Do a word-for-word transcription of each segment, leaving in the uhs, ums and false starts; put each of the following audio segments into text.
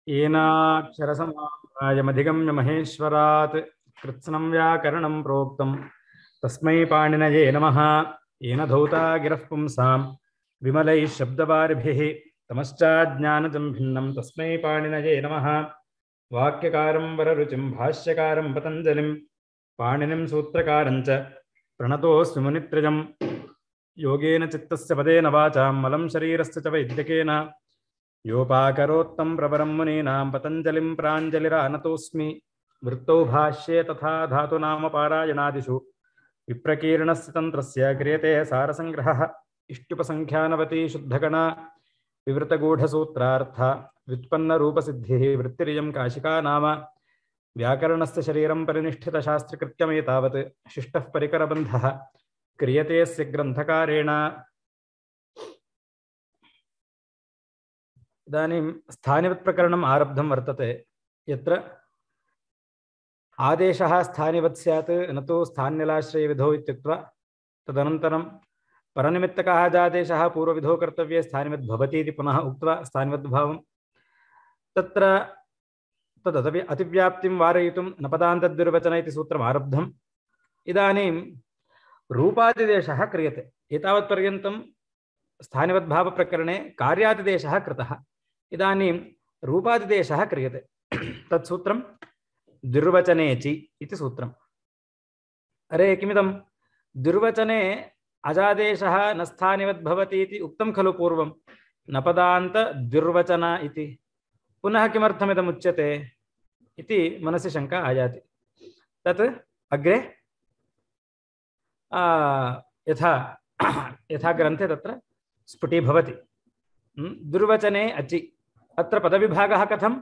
येनाक्षरसमाप्रायमधिगम्य महेश्वरात् कृत्स्नं व्याकरणं प्रोक्तं तस्मै पाणिनये नमः। येन धौता गिरः पुंसां विमलैः शब्दवारिभिः तमश्चाज्ञानजं भिन्नं तस्मै पाणिनये नमः। वाक्यकारं वररुचिं भाष्यकारं पतञ्जलिं पाणिनिं सूत्रकारं च प्रणतोऽस्मि मुनित्रयम्। योगेन चित्तस्य पदेन वाचां मलं शरीरस्य च वैद्यकेन योपाकरोत्तं प्रवरं मुनीनां पतञ्जलिं प्राञ्जलिरानतोऽस्मि। वृत्तौ भाष्ये तथा धातुनाम पारायणादिषु विप्रकीर्णस्य तन्त्रस्य क्रियते सारसङ्ग्रहः। इष्टुपसङ्ख्यानवती शुद्धगणा विवृतगूढसूत्रार्थ व्युत्पन्नरूपसिद्धिः वृत्तिरियं काशिका नाम। व्याकरणस्य शरीरं परिनिष्ठितशास्त्रकृत्यमेतावत् शिष्टः परिकरबन्धः क्रियते स्य ग्रन्थकारेण। इदानीं स्थानिवत्प्रकरणम् आरब्धं वर्तते, यत्र आदेशः स्थानिवत् स्यात् न तु स्थान्यलाश्रयविधौ इत्युक्त्वा तदनन्तरं परनिमित्तकः आदेशः पूर्वविधौ कर्तव्ये स्थानिवत् भवति इति पुनः उक्त्वा स्थानिवद्भावं तत्र तदपि अतिव्याप्तिं वारयितुं नपदान्तद्विर्वचन इति सूत्रम् आरब्धम्। इदानीं रूपादिदेशः क्रियते। एतावत्पर्यन्तं स्थानिवद्भावप्रकरणे कार्यादिदेशः कृतः। इदानीं रूपादिदेशः क्रियते। तत्सूत्रं दुर्वचनेचि इति सूत्रम्। अरे किमिदं दुर्वचने अजादेशः न स्थानिवद्भवति इति उक्तं खलु पूर्वं, नपदान्त दुर्वचन इति। पुनः किमर्थमिदमुच्यते इति मनसि शङ्का आयाति। तत् अग्रे यथा यथा ग्रन्थे तत्र स्फुटीभवति। दुर्वचने अचि, अत्र पदविभागः कथं?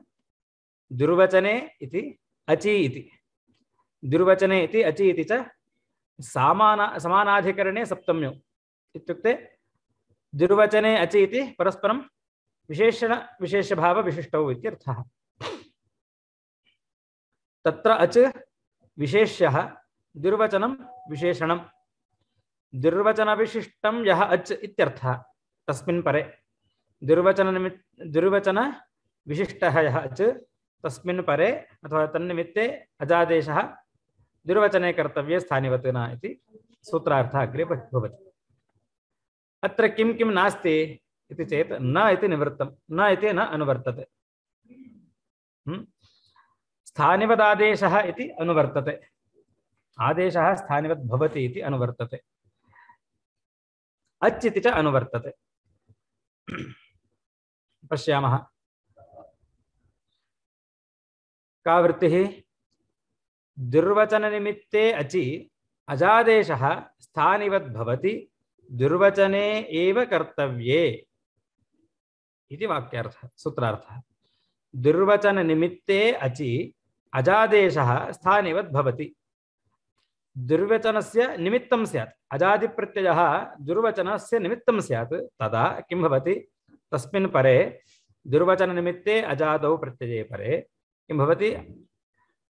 दुर्वचने इति अचि इति, दुर्वचने इति अचि इति च समाना समानाधिकरणे सप्तम्यो इत्युक्ते दुर्वचने अचि इति परस्परं विशेषण विशेषभाव विशिष्टौ इत्यर्थः। तत्र अच विशेष्यः, दुर्वचनं विशेषणं। दुर्वचनविशिष्टं यः अच् इत्यर्थः। तस्मिन् परे दुर्वचन निमित्त दुर्वचन विशिष्टः यः अच् तस्मिन् परे अथवा तन्निमित्ते अजादेशः दुर्वचने कर्तव्ये स्थानिवत् न इति सूत्रार्थः अग्रे भवति। अत्र किं किं नास्ति इति चेत् न इति निवृत्तं, न इति न अनुवर्तते। स्थानिवदादेशः इति अनुवर्तते, आदेशः स्थानिवद् भवति इति अनुवर्तते, अच् इति च अनुवर्तते। पश्यामः का वृत्तिः? दुर्वचननिमित्ते अचि अजादेशः स्थानिवद् भवति दुर्वचने एव कर्तव्ये इति वाक्यार्थः सूत्रार्थः। दुर्वचननिमित्ते अचि अजादेशः स्थानिवद् भवति। दुर्वचनस्य निमित्तं स्यात्, अजादिप्रत्ययः दुर्वचनस्य निमित्तं स्यात्, तदा किं भवति? तस्मिन् परे दुर्वचननिमित्ते अजादौ प्रत्यये परे किं भवति?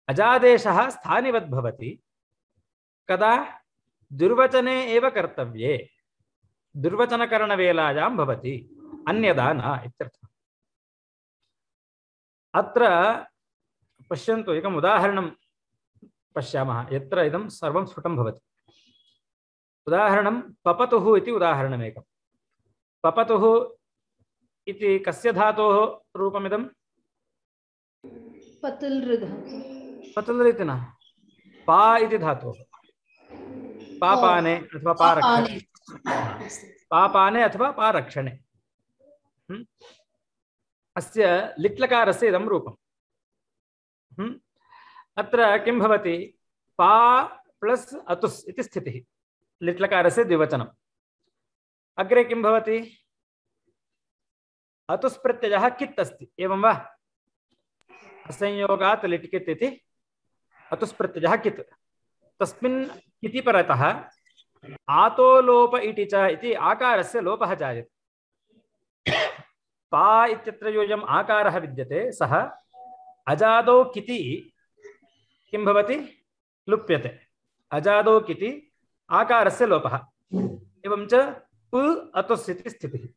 अजादेशः स्थानिवद् भवति। कदा? दुर्वचने एव कर्तव्ये, दुर्वचनकरणवेलायां भवति, अन्यदा न इत्यर्थः। अत्र पश्यन्तु, एकम् उदाहरणं पश्यामः यत्र इदं सर्वं स्फुटं भवति। उदाहरणं पपतुः इति उदाहरणमेकं। पपतुः इति कस्य धातोः रूपमिदं? पतल् धातु। पतल् इति न, पा इति धातोः। पापाने अथवा पारक्षणे, पापाने अथवा पारक्षणे अस्य लिट्लकारस्य इदं रूपम्। अत्र किं भवति? पा प्लस् अतुस् इति स्थितिः, लिट्लकारस्य द्विवचनम्। अग्रे किं भवति? अतुस् प्रत्ययः कित् अस्ति, एवं वा? असंयोगात् लिट्कित् इति अतुस् प्रत्ययः कित्। तस्मिन् किति परतः आतो लोप इति च इति आकारस्य लोपः जायते। पा इत्यत्र योऽयम् आकारः विद्यते, सः अजादौ किति किं भवति? लुप्यते। अजादौ किति आकारस्य लोपः। एवं च प अतुस् इति स्थितिः,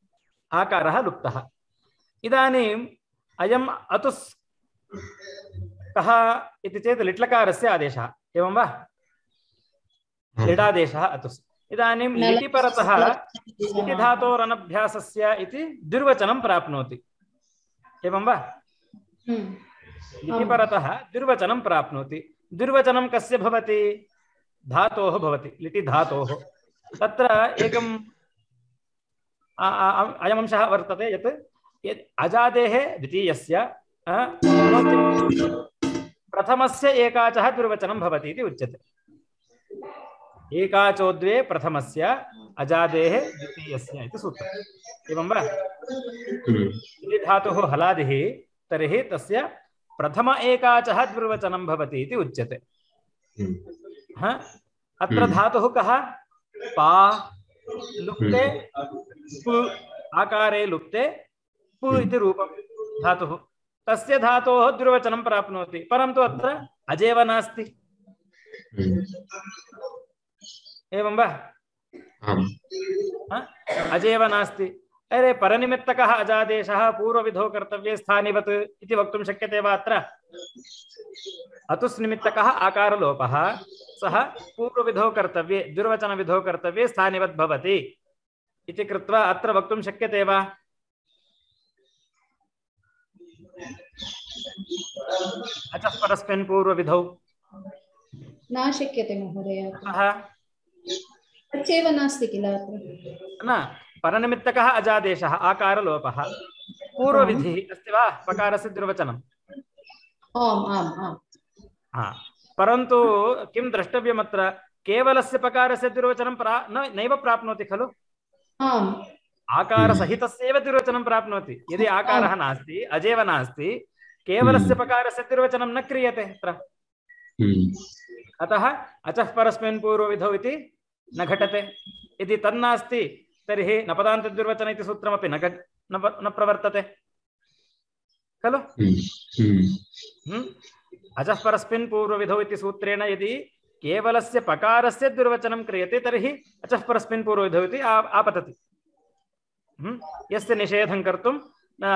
आकारः लुप्तः। इदानीम् अयम् अतुस् कः इति चेत् लिट्लकारस्य आदेशः एवं वा लिडादेशः अतुस् इदानीं लिटि परतः लिटि धातोरनभ्यासस्य इति द्विर्वचनं प्राप्नोति एवं वा लिटि परतः द्विर्वचनं प्राप्नोति द्विर्वचनं कस्य भवति धातोः भवति लिटि धातोः तत्र एकम् अयम् अंशः वर्तते यत् यत् अजादेः द्वितीयस्य प्रथमस्य एकाचः द्विर्वचनं भवति इति उच्यते एकाचो द्वे प्रथमस्य अजादेः द्वितीयस्य इति सूत्रम् एवं वा लिटि धातुः हलादिः तर्हि तस्य प्रथम एकाचः द्विर्वचनं भवति इति उच्यते हाँ अत्र धातुः कः पा लुप्ते पु आकारे लुप्ते पु इति रूपं धातुः तस्य धातोः द्विर्वचनं प्राप्नोति परन्तु अत्र अजेव नास्ति एवं वा अजेव नास्ति अरे परनिमित्तकः अजादेशः पूर्वविधौ कर्तव्ये स्थानिवत् इति वक्तुं शक्यते वा अत्र अतुस् निमित्तकः आकारलोपः सः पूर्वविधौ कर्तव्ये द्विर्वचनविधौ कर्तव्ये स्थानिवत् भवति इति कृत्वा अत्र वक्तुं शक्यते वा अचः परस्मिन् पूर्वविधौ न शक्यते महोदय तच्चैव नास्ति किल न परनिमित्तकः अजादेशः आकारलोपः पूर्वविधिः अस्ति वा पकारस्य द्विर्वचनम् आम् आम् आम् हा परन्तु किं द्रष्टव्यमत्र केवलस्य पकारस्य द्विर्वचनं प्रा न नैव प्राप्नोति खलु आम् आकारसहितस्यैव द्विर्वचनं प्राप्नोति यदि आकारः नास्ति अजेव नास्ति केवलस्य पकारस्य द्विर्वचनं न क्रियते अत्र अतः अचः परस्मिन् पूर्वविधौ इति न घटते यदि तन्नास्ति तर्हि नपदान्तद्विर्वचन इति सूत्रमपि न न प्रवर्तते खलु अचः परस्मिन् पूर्वविधौ इति सूत्रेण यदि केवलस्य पकारस्य द्विर्वचनं क्रियते तर्हि अचः परस्मिन् पूर्वविधौ इति आपतति यस्य निषेधं कर्तुं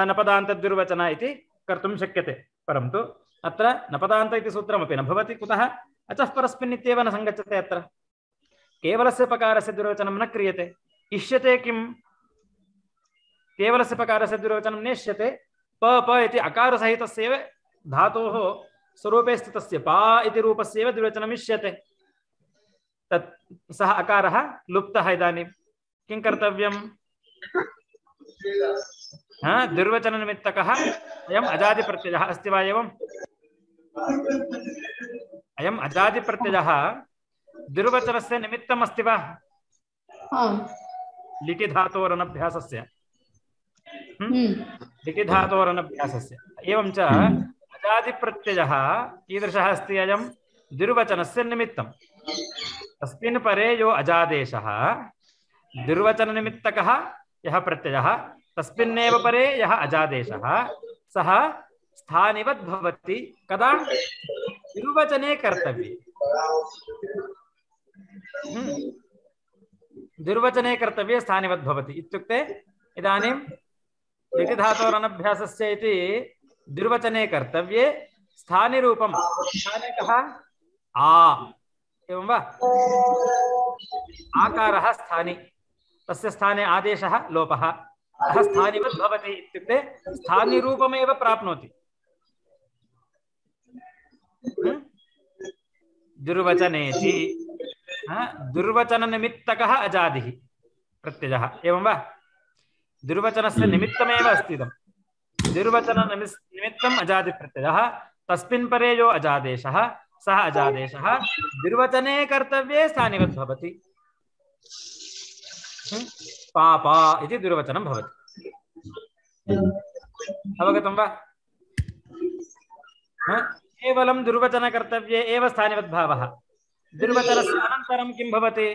नपदान्तद्विर्वचन इति कर्तुं शक्यते परन्तु अत्र नपदान्त इति सूत्रमपि न भवति कुतः अचः परस्मिन् इत्येव न सङ्गच्छते अत्र केवलस्य पकारस्य द्विर्वचनं न क्रियते इष्यते किं केवलस्य पकारस्य द्विर्वचनं नेष्यते प प इति अकारसहितस्यैव धातोः स्वरूपे स्थितस्य पा इति रूपस्यैव द्विर्वचनम् इष्यते तत् सः अकारः लुप्तः इदानीं किं कर्तव्यम् हाँ द्विर्वचननिमित्तकः अयम् अजादिप्रत्ययः अस्ति वा एवम् अयम् अजादिप्रत्ययः द्विर्वचनस्य निमित्तम् अस्ति वा लिटि धातोरनभ्यासस्य लिटि धातोरनभ्यासस्य एवं च अजादिप्रत्ययः कीदृशः अस्ति अयं द्विर्वचनस्य निमित्तं तस्मिन् परे यो अजादेशः द्विर्वचननिमित्तकः यः प्रत्ययः तस्मिन्नेव परे यः अजादेशः सः स्थानिवत् भवति कदा द्विर्वचने कर्तव्ये द्विर्वचने कर्तव्ये स्थानिवत् भवति इत्युक्ते इदानीं लिटि धातोरनभ्यासस्य इति द्विर्वचने कर्तव्ये स्थानिरूपं स्थाने कः आ एवं वा आकारः स्थानि तस्य स्थाने आदेशः लोपः अतः स्थानिवत् भवति इत्युक्ते स्थानिरूपमेव प्राप्नोति दुर्वचनेति दुर्वचननिमित्तकः अजादिः प्रत्ययः एवं वा दुर्वचनस्य निमित्तमेव अस्ति इदं दुर्वचननिमित्तम् अजादिप्रत्ययः तस्मिन् परे यो अजादेशः सः अजादेशः दुर्वचने कर्तव्ये स्थानिवत् भवति पापा इति दुर्वचनं भवति अवगतं वा केवलं दुर्वचनकर्तव्ये एव स्थानिवत् भावः दुर्वचनस्य अनन्तरं किं भवति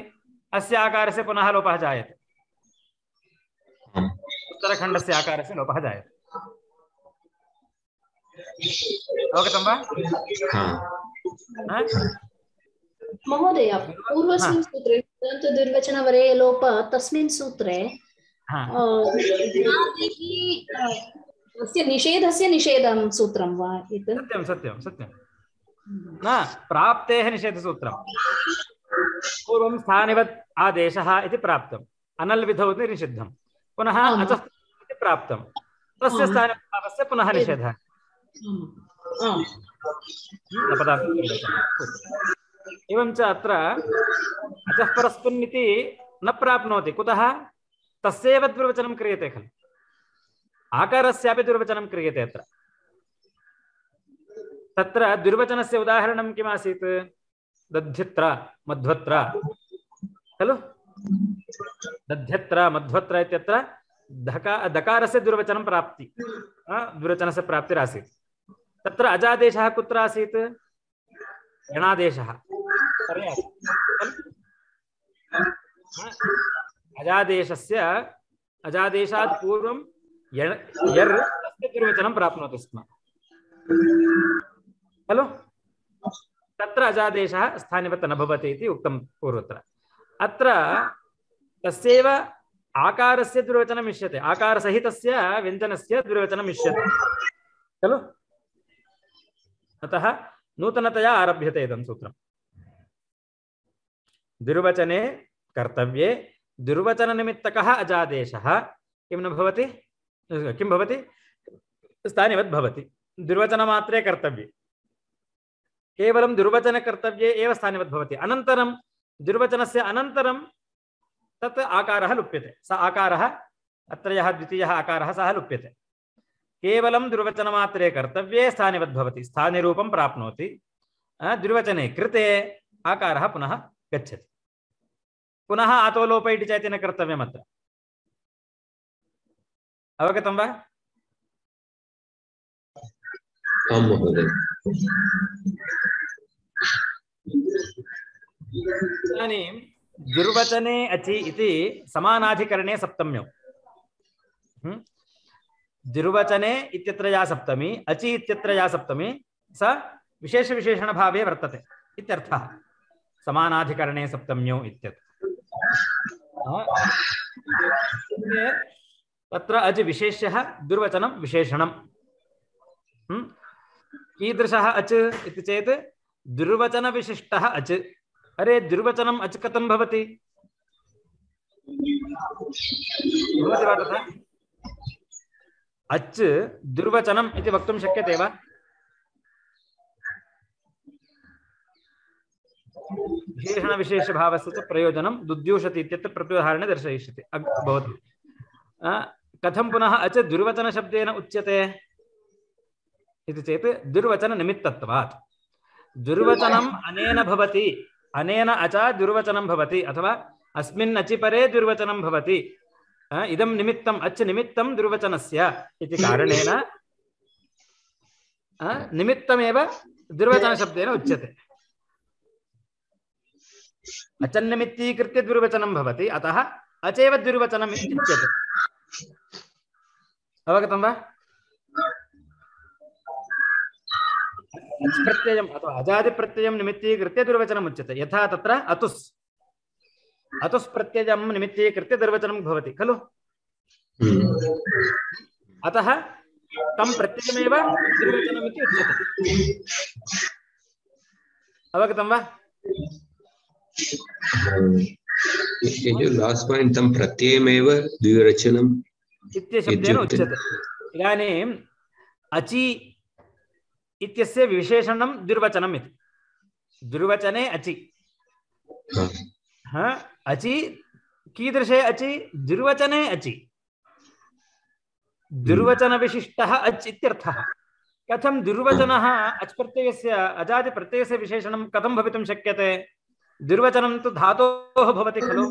अस्य आकारस्य पुनः लोपः जायते उत्तरखण्डस्य आकारस्य लोपः जायते अवगतं वा महोदय पूर्वस्मिन् सूत्रे दुर्वचनवरे लोप तस्मिन् सूत्रे तस्य निषेधस्य निषेधं सूत्रं वा एतत्? सत्यं सत्यं सत्यं न प्राप्तेः निषेधसूत्रं पूर्वं स्थानिवत् आदेशः इति प्राप्तम् अनल् विधौ इति निषिद्धं पुनः अचः इति प्राप्तं तस्य स्थानभावस्य पुनः निषेधः एवं च अत्र अचः परस्मिन् इति न प्राप्नोति कुतः तस्यैव द्विर्वचनं क्रियते खलु आकारस्यापि द्विर्वचनं क्रियते अत्र तत्र द्विर्वचनस्य उदाहरणं किम् आसीत् दध्यत्र मध्वत्र खलु दध्यत्र मध्वत्र इत्यत्र धका दकारस्य द्विर्वचनं प्राप्ति द्विर्वचनस्य प्राप्तिरासीत् तत्र अजादेशः कुत्र आसीत् यणादेशः अजादेशस्य अजादेशात् पूर्वं यर् तस्य द्विर्वचनं प्राप्नोति स्म खलु तत्र अजादेशः स्थानिवत् न भवति इति उक्तं पूर्वत्र अत्र तस्यैव आकारस्य द्विर्वचनम् इष्यते आकारसहितस्य व्यञ्जनस्य द्विर्वचनम् इष्यते खलु अतः नूतनतया आरभ्यते इदं सूत्रम् द्विर्वचने कर्तव्ये द्विर्वचननिमित्तकः अजादेशः किं न भवति किं भवति स्थानिवत् भवति द्विर्वचनमात्रे कर्तव्ये केवलं द्विर्वचनकर्तव्ये एव स्थानिवत् भवति अनन्तरं द्विर्वचनस्य अनन्तरं तत् आकारः लुप्यते स आकारः अत्र यः द्वितीयः आकारः सः लुप्यते केवलं द्विर्वचनमात्रे कर्तव्ये स्थानिवत् भवति स्थानिरूपं प्राप्नोति द्विर्वचने कृते आकारः पुनः गच्छति पुनः आतोलोप इति चेति न कर्तव्यम् अत्र अवगतं वा आं महोदय इदानीं द्विर्वचने अचि इति समानाधिकरणे सप्तम्यौ द्विर्वचने इत्यत्र या सप्तमी अचि इत्यत्र या सप्तमी स विशेषविशेषणभावे वर्तते इत्यर्थः समानाधिकरणे सप्तम्यौ इत्यत्र तत्र अज् विशेष्यः दुर्वचनं विशेषणं कीदृशः अच् इति चेत् दुर्वचनविशिष्टः अच् अरे दुर्वचनम् अच् कथं भवति भवति वा तथा अच् दुर्वचनम् इति वक्तुं शक्यते वा विशेषणविशेषभावस्य च प्रयोजनं दुद्यूषति इत्यत्र प्रत्युदाहरणे दर्शयिष्यते भवति कथं पुनः अच् दुर्वचनशब्देन उच्यते इति चेत् दुर्वचननिमित्तत्वात् दुर्वचनम् अनेन भवति अनेन अचा दुर्वचनं भवति अथवा अस्मिन् अचि परे दुर्वचनं भवति इदं निमित्तम् अच् निमित्तं दुर्वचनस्य इति कारणेन निमित्तमेव दुर्वचनशब्देन उच्यते अचन्निमित्तीकृत्य दुर्वचनं भवति अतः अचैव दुर्वचनम् इत्युच्यते अवगतं वा अच् प्रत्ययम् अथवा अजादि प्रत्ययं निमित्तीकृत्य दुर्वचनम् उच्यते यथा तत्र अतुस् अतुस् प्रत्ययं निमित्तीकृत्य दुर्वचनं भवति खलु अतः तं प्रत्ययमेव दुर्वचनम् इति उच्यते अवगतं वा लास्ट पॉइंट तं प्रत्ययमेव द्विवचनम् इत्यशब्देन उच्यते इदानीम् अचि इत्यस्य विशेषणं दुर्वचनम् इति दुर्वचने अचि हाँ अचि कीदृशे अचि दुर्वचने अचि दुर्वचनविशिष्टः अच् इत्यर्थः कथं दुर्वचनः अच् प्रत्ययस्य अजादि प्रत्ययस्य विशेषणं कथं भवितुं शक्यते दुर्वचनं तु धातोः भवति खलु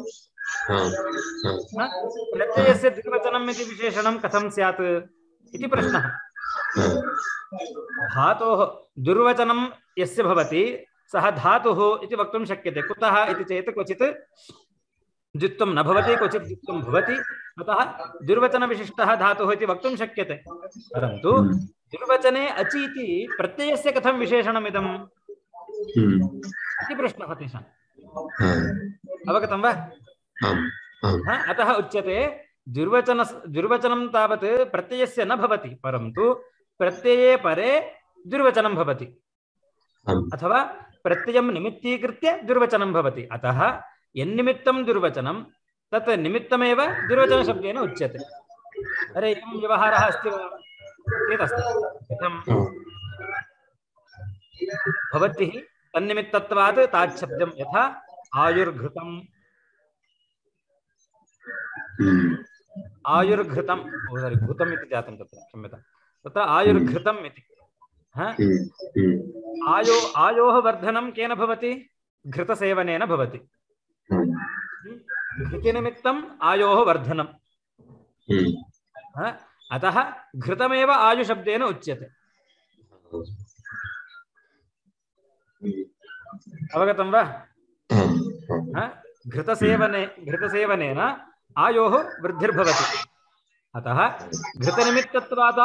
प्रत्ययस्य दुर्वचनम् इति विशेषणं कथं स्यात् इति प्रश्नः धातोः दुर्वचनं यस्य भवति सः धातुः इति वक्तुं शक्यते कुतः इति चेत् क्वचित् द्वित्वं न भवति क्वचित् द्वित्वं भवति अतः दुर्वचनविशिष्टः धातुः इति वक्तुं शक्यते परन्तु दुर्वचने अचि इति प्रत्ययस्य कथं विशेषणमिदम् इति प्रश्नः तेषाम् अवगतं वा अतः उच्यते द्विर्वचन द्विर्वचनं तावत् प्रत्ययस्य न भवति, परन्तु प्रत्यये परे द्विर्वचनं भवति अथवा प्रत्ययं निमित्तीकृत्य द्विर्वचनं भवति। अतः यन्निमित्तं द्विर्वचनं तत् निमित्तमेव द्विर्वचनशब्देन उच्यते। अरे एवं व्यवहारः अस्ति वा चेदस्ति। कथं भवद्भिः तन्निमित्तत्वात् ताच्छब्दं यथा आयुर्घृतम् आयुर्घृतम् सारी घृतम् इति जातं तत्र, क्षम्यतां, तत्र आयुर्घृतम् इति। आयो आयोः वर्धनं केन भवति? घृतसेवनेन भवति। घृतिनिमित्तम् आयोः वर्धनम्, अतः घृतमेव आयुशब्देन उच्यते। अवगतं वा? घृतसेवने घृतसेवनेन आयोः वृद्धिर्भवति। अतः घृतनिमित्तत्वात्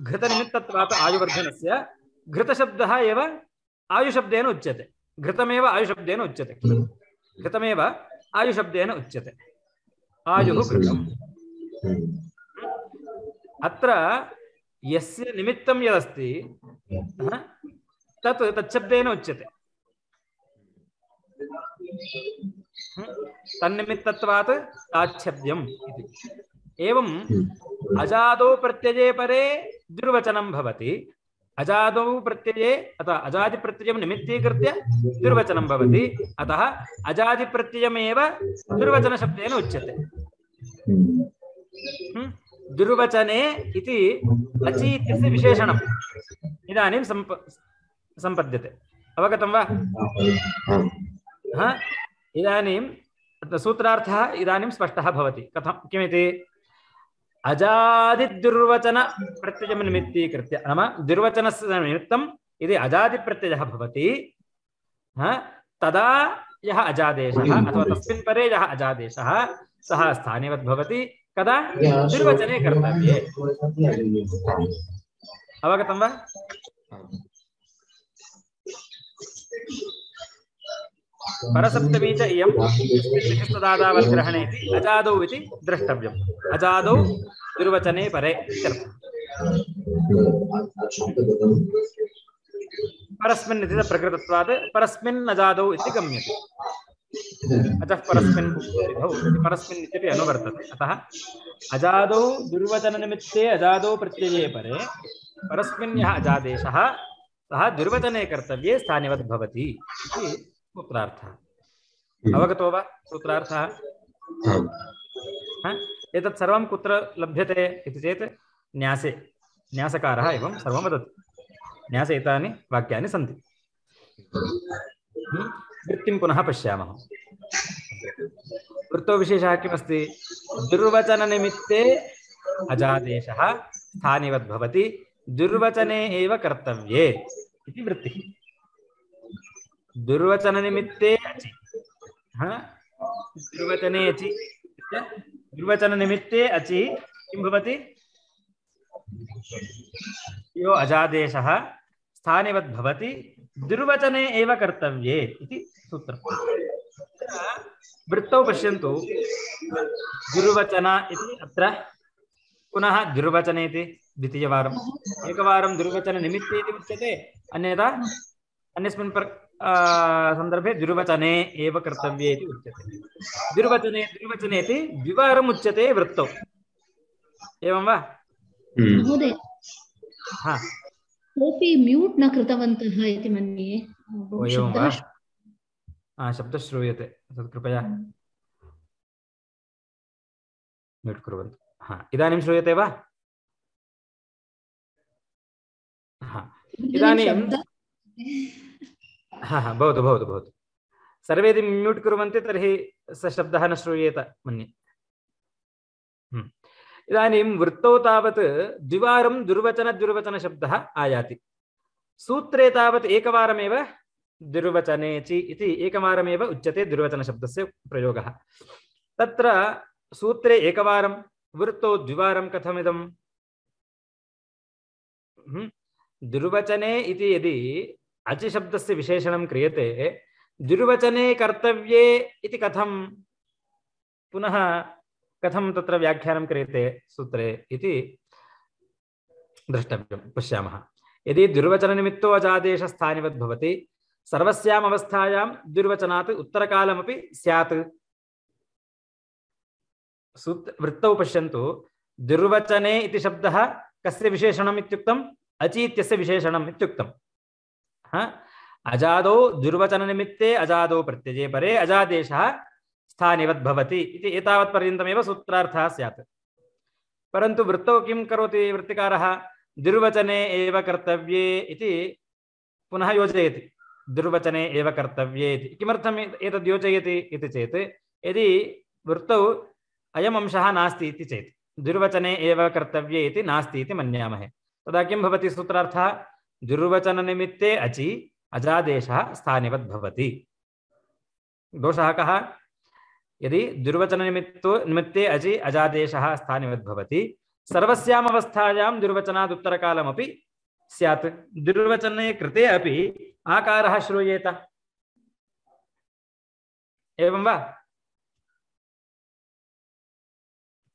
घृतनिमित्तत्वात् आयुवर्धनस्य घृतशब्दः एव आयुशब्देन उच्यते। घृतमेव आयुशब्देन उच्यते। घृतमेव आयुशब्देन उच्यते। आयुः घृतम्। अत्र यस्य निमित्तं यदस्ति तत् तच्छब्देन उच्यते। तन्निमित्तत्वात् ताच्छब्दम् इति। एवम् अजादौ प्रत्यये परे द्विर्वचनं भवति। अजादौ प्रत्यये अथवा अजादिप्रत्ययं निमित्तीकृत्य द्विर्वचनं भवति। अतः अजादिप्रत्ययमेव द्विर्वचनशब्देन उच्यते। द्विर्वचने इति अचि इत्यस्य विशेषणम् इदानीं सम्प सम्पद्यते। अवगतं वा? हा, इदानीं सूत्रार्थः इदानीं स्पष्टः भवति। कथं किमिति? अजादिद्युर्वचन प्रत्ययं निमित्तीकृत्य, नाम द्युर्वचनस्य निमित्तं यदि अजादिप्रत्ययः भवति तदा यः अजादेशः अथवा तस्मिन् परे यः अजादेशः सः स्थानिवद् भवति। कदा? द्विर्वचने कर्तव्ये। अवगतं वा? परसप्तमी च इयं तदादावद्ग्रहणे अजादौ इति द्रष्टव्यम्। अजादौ द्विर्वचने परे इत्यर्थः। परस्मिन् इति प्रकृतत्वात् परस्मिन् अजादौ इति गम्यते। अतः परस्मिन् विधौ परस्मिन् इत्यपि अनुवर्तते। अतः अजादौ द्विर्वचननिमित्ते अजादौ प्रत्यये परे परस्मिन् यः अजादेशः सः द्विर्वचने कर्तव्ये स्थानिवद् भवति इति सूत्रार्थः। अवगतो वा सूत्रार्थः? एतत् सर्वं कुत्र लभ्यते इति चेत् न्यासे। न्यासकारः एवं सर्वं वदति। न्यासे एतानि वाक्यानि सन्ति। वृत्तिं पुनः पश्यामः। वृत्तौ विशेषः किमस्ति? दुर्वचननिमित्ते अजादेशः स्थानिवद् भवति, दुर्वचने एव कर्तव्ये इति वृत्तिः। दुर्वचननिमित्ते अचि, दुर्वचने अचि, दुर्वचननिमित्ते अचि किं भवति? यो अजादेशः स्थानिवद् भवति, दुर्वचने एव कर्तव्ये इति सूत्रम्। वृत्तौ पश्यन्तु। दुर्वचन इति अत्र पुनः दुर्वचने इति द्वितीयवारम्। एकवारं दुर्वचननिमित्ते इति उच्यते, अन्यथा अन्यस्मिन् सन्दर्भे दुर्वचने एव कर्तव्ये इति उच्यते। दुर्वचने दुर्वचने इति द्विवारम् उच्यते वृत्तौ। एवं वा? महोदय, हा, कोऽपि म्यूट् न कृतवन्तः इति मन्ये। ओ एवं वा? हा, शब्दः श्रूयते, तत् कृपया म्यूट् कुर्वन्तु। हा, इदानीं श्रूयते वा? हा, इदानीं हा हा भवतु भवतु भवतु। सर्वे यदि म्यूट् कुर्वन्ति तर्हि स शब्दः न श्रूयेत मन्ये। इदानीं वृत्तौ तावत् द्विवारं दुर्वचनद्विर्वचनशब्दः आयाति। सूत्रे तावत् एकवारमेव दुर्वचनेचि इति एकवारमेव उच्यते दुर्वचनशब्दस्य प्रयोगः। तत्र सूत्रे एकवारं, वृत्तौ द्विवारं कथमिदम्? दुर्वचने इति यदि अचि शब्दस्य विशेषणं क्रियते, दुर्वचने कर्तव्ये इति कथं पुनः कथं तत्र व्याख्यानं क्रियते सूत्रे इति द्रष्टव्यं। पश्यामः। यदि द्विर्वचननिमित्तो अजादेशस्थानिवद् भवति सर्वस्याम् अवस्थायां द्विर्वचनात् उत्तरकालमपि स्यात्। सूत्र वृत्तौ पश्यन्तु। द्विर्वचने इति शब्दः कस्य विशेषणम् इत्युक्तम्? अचि इत्यस्य विशेषणम् इत्युक्तम्। हा अजादौ द्विर्वचननिमित्ते अजादौ प्रत्यये परे अजादेशः स्थानिवद् भवति इति एतावत्पर्यन्तमेव सूत्रार्थः स्यात्। परन्तु वृत्तौ किं करोति वृत्तिकारः? द्विर्वचने एव कर्तव्ये इति पुनः योजयति। द्विर्वचने एव कर्तव्ये इति किमर्थम् एतद् योजयति इति चेत् यदि वृत्तौ अयम् अंशः नास्ति इति चेत् द्विर्वचने एव कर्तव्ये इति नास्ति इति मन्यामहे। तदा किं भवति सूत्रार्थः? द्विर्वचननिमित्ते अचि अजादेशः स्थानिवद् भवति। दोषः कः? यदि द्विर्वचननिमित्तो निमित्ते अचि अजादेशः स्थानिवद् भवति सर्वस्याम् अवस्थायां द्विर्वचनात् उत्तरकालमपि स्यात्। द्विर्वचने कृते अपि आकारः श्रूयेत। एवं वा?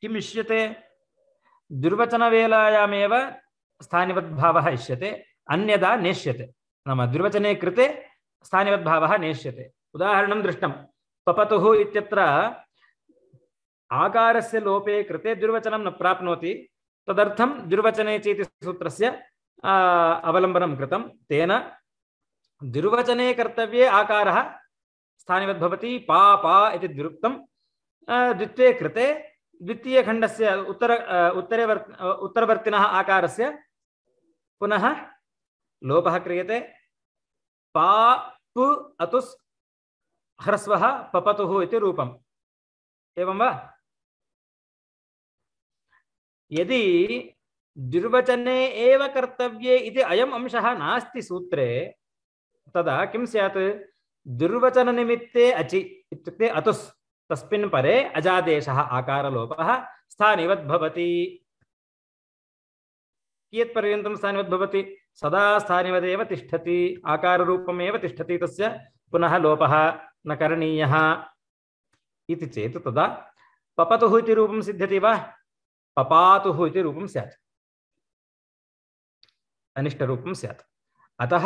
किम् इष्यते? द्विर्वचनवेलायामेव स्थानिवद्भावः इष्यते, अन्यदा नेष्यते। नाम द्विर्वचने कृते स्थानिवद्भावः नेष्यते। उदाहरणं दृष्टं। पपतुः इत्यत्र आकारस्य लोपे कृते द्विर्वचनं न प्राप्नोति, तदर्थं द्विर्वचने चेति सूत्रस्य अवलम्बनं कृतं। तेन द्विर्वचने कर्तव्ये आकारः स्थानिवद् भवति। पा पा इति द्विरुक्तं। द्वित्वे कृते द्वितीयखण्डस्य उत्तर उत्तरे उत्तरवर्तिनः आकारस्य पुनः लोपः क्रियते। पा पु अतुस् ह्रस्वः पपतुः इति रूपम्। एवं वा? यदि द्विर्वचने एव कर्तव्ये इति अयम् अंशः नास्ति सूत्रे तदा किं स्यात्? द्विर्वचननिमित्ते अचि इत्युक्ते अतुस् तस्मिन् परे अजादेशः आकारलोपः स्थानिवद् भवति। कियत्पर्यन्तं स्थानिवद् भवति? सदा स्थानिवदेव तिष्ठति, आकाररूपमेव तिष्ठति, तस्य पुनः लोपः न करणीयः इति चेत् तदा पपतुः इति रूपं सिद्ध्यति वा? पपातुः इति रूपं स्यात्, अनिष्टरूपं स्यात्। अतः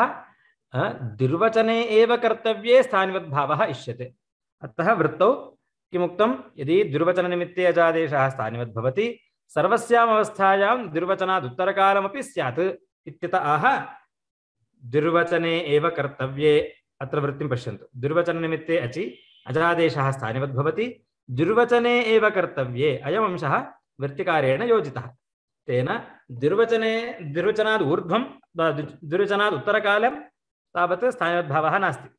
द्विर्वचने एव कर्तव्ये स्थानिवद्भावः इष्यते। अतः वृत्तौ किमुक्तं? यदि द्विर्वचननिमित्ते अजादेशः स्थानिवद् भवति सर्वस्याम् अवस्थायां द्विर्वचनात् उत्तरकालमपि स्यात् इत्यत आह द्विर्वचने एव कर्तव्ये। अत्र वृत्तिं पश्यन्तु। द्विर्वचननिमित्ते अचि अजादेशः स्थानिवद् भवति, द्विर्वचने एव कर्तव्ये अयम् अंशः वृत्तिकारेण योजितः। तेन द्विर्वचने द्विर्वचनात् ऊर्ध्वं द्विर्वचनात् उत्तरकालं तावत् स्थानिवद्भावः नास्ति।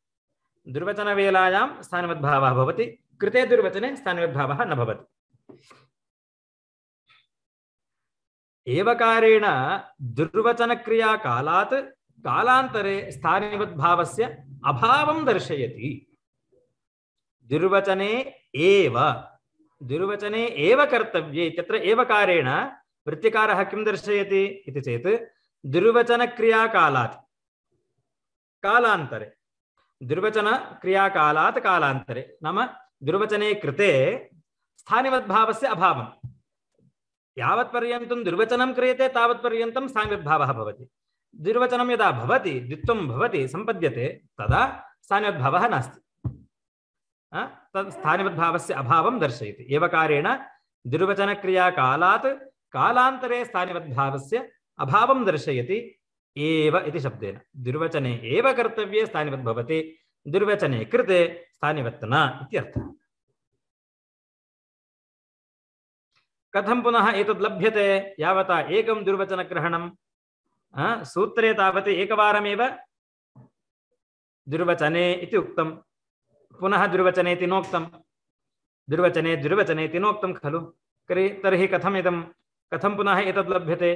द्विर्वचनवेलायां स्थानिवद्भावः भवति, कृते द्विर्वचने स्थानिवद्भावः न भवति। एवकारेण द्विर्वचनक्रियाकालात् कालान्तरे स्थानिवद्भावस्य अभावं दर्शयति। द्विर्वचने एव द्विर्वचने एव कर्तव्ये इत्यत्र एवकारेण वृत्तिकारः किं दर्शयति इति चेत् द्विर्वचनक्रियाकालात् कालान्तरे द्विर्वचनक्रियाकालात् कालान्तरे नाम द्विर्वचने कृते स्थानिवद्भावस्य अभावं। यावत्पर्यन्तं द्विर्वचनं क्रियते तावत्पर्यन्तं स्थानिवद्भावः भवति। द्विर्वचनं यदा भवति, द्वित्वं भवति, सम्पद्यते, तदा स्थानिवद्भावः नास्ति। तत् स्थानिवद्भावस्य अभावं दर्शयति। एवकारेण द्विर्वचनक्रियाकालात् कालान्तरे स्थानिवद्भावस्य अभावं दर्शयति एव इति शब्देन। द्विर्वचने एव कर्तव्ये स्थानिवद् भवति, द्विर्वचने कृते स्थानिवत् न इत्यर्थः। कथं पुनः एतद् लभ्यते? यावता एकं द्विर्वचनग्रहणं सूत्रे तावत् एकवारमेव द्विर्वचने इति उक्तं, पुनः द्विर्वचने इति नोक्तं, द्विर्वचने द्विर्वचने इति नोक्तं खलु। तर्हि कथम् इदं कथं पुनः एतद् लभ्यते?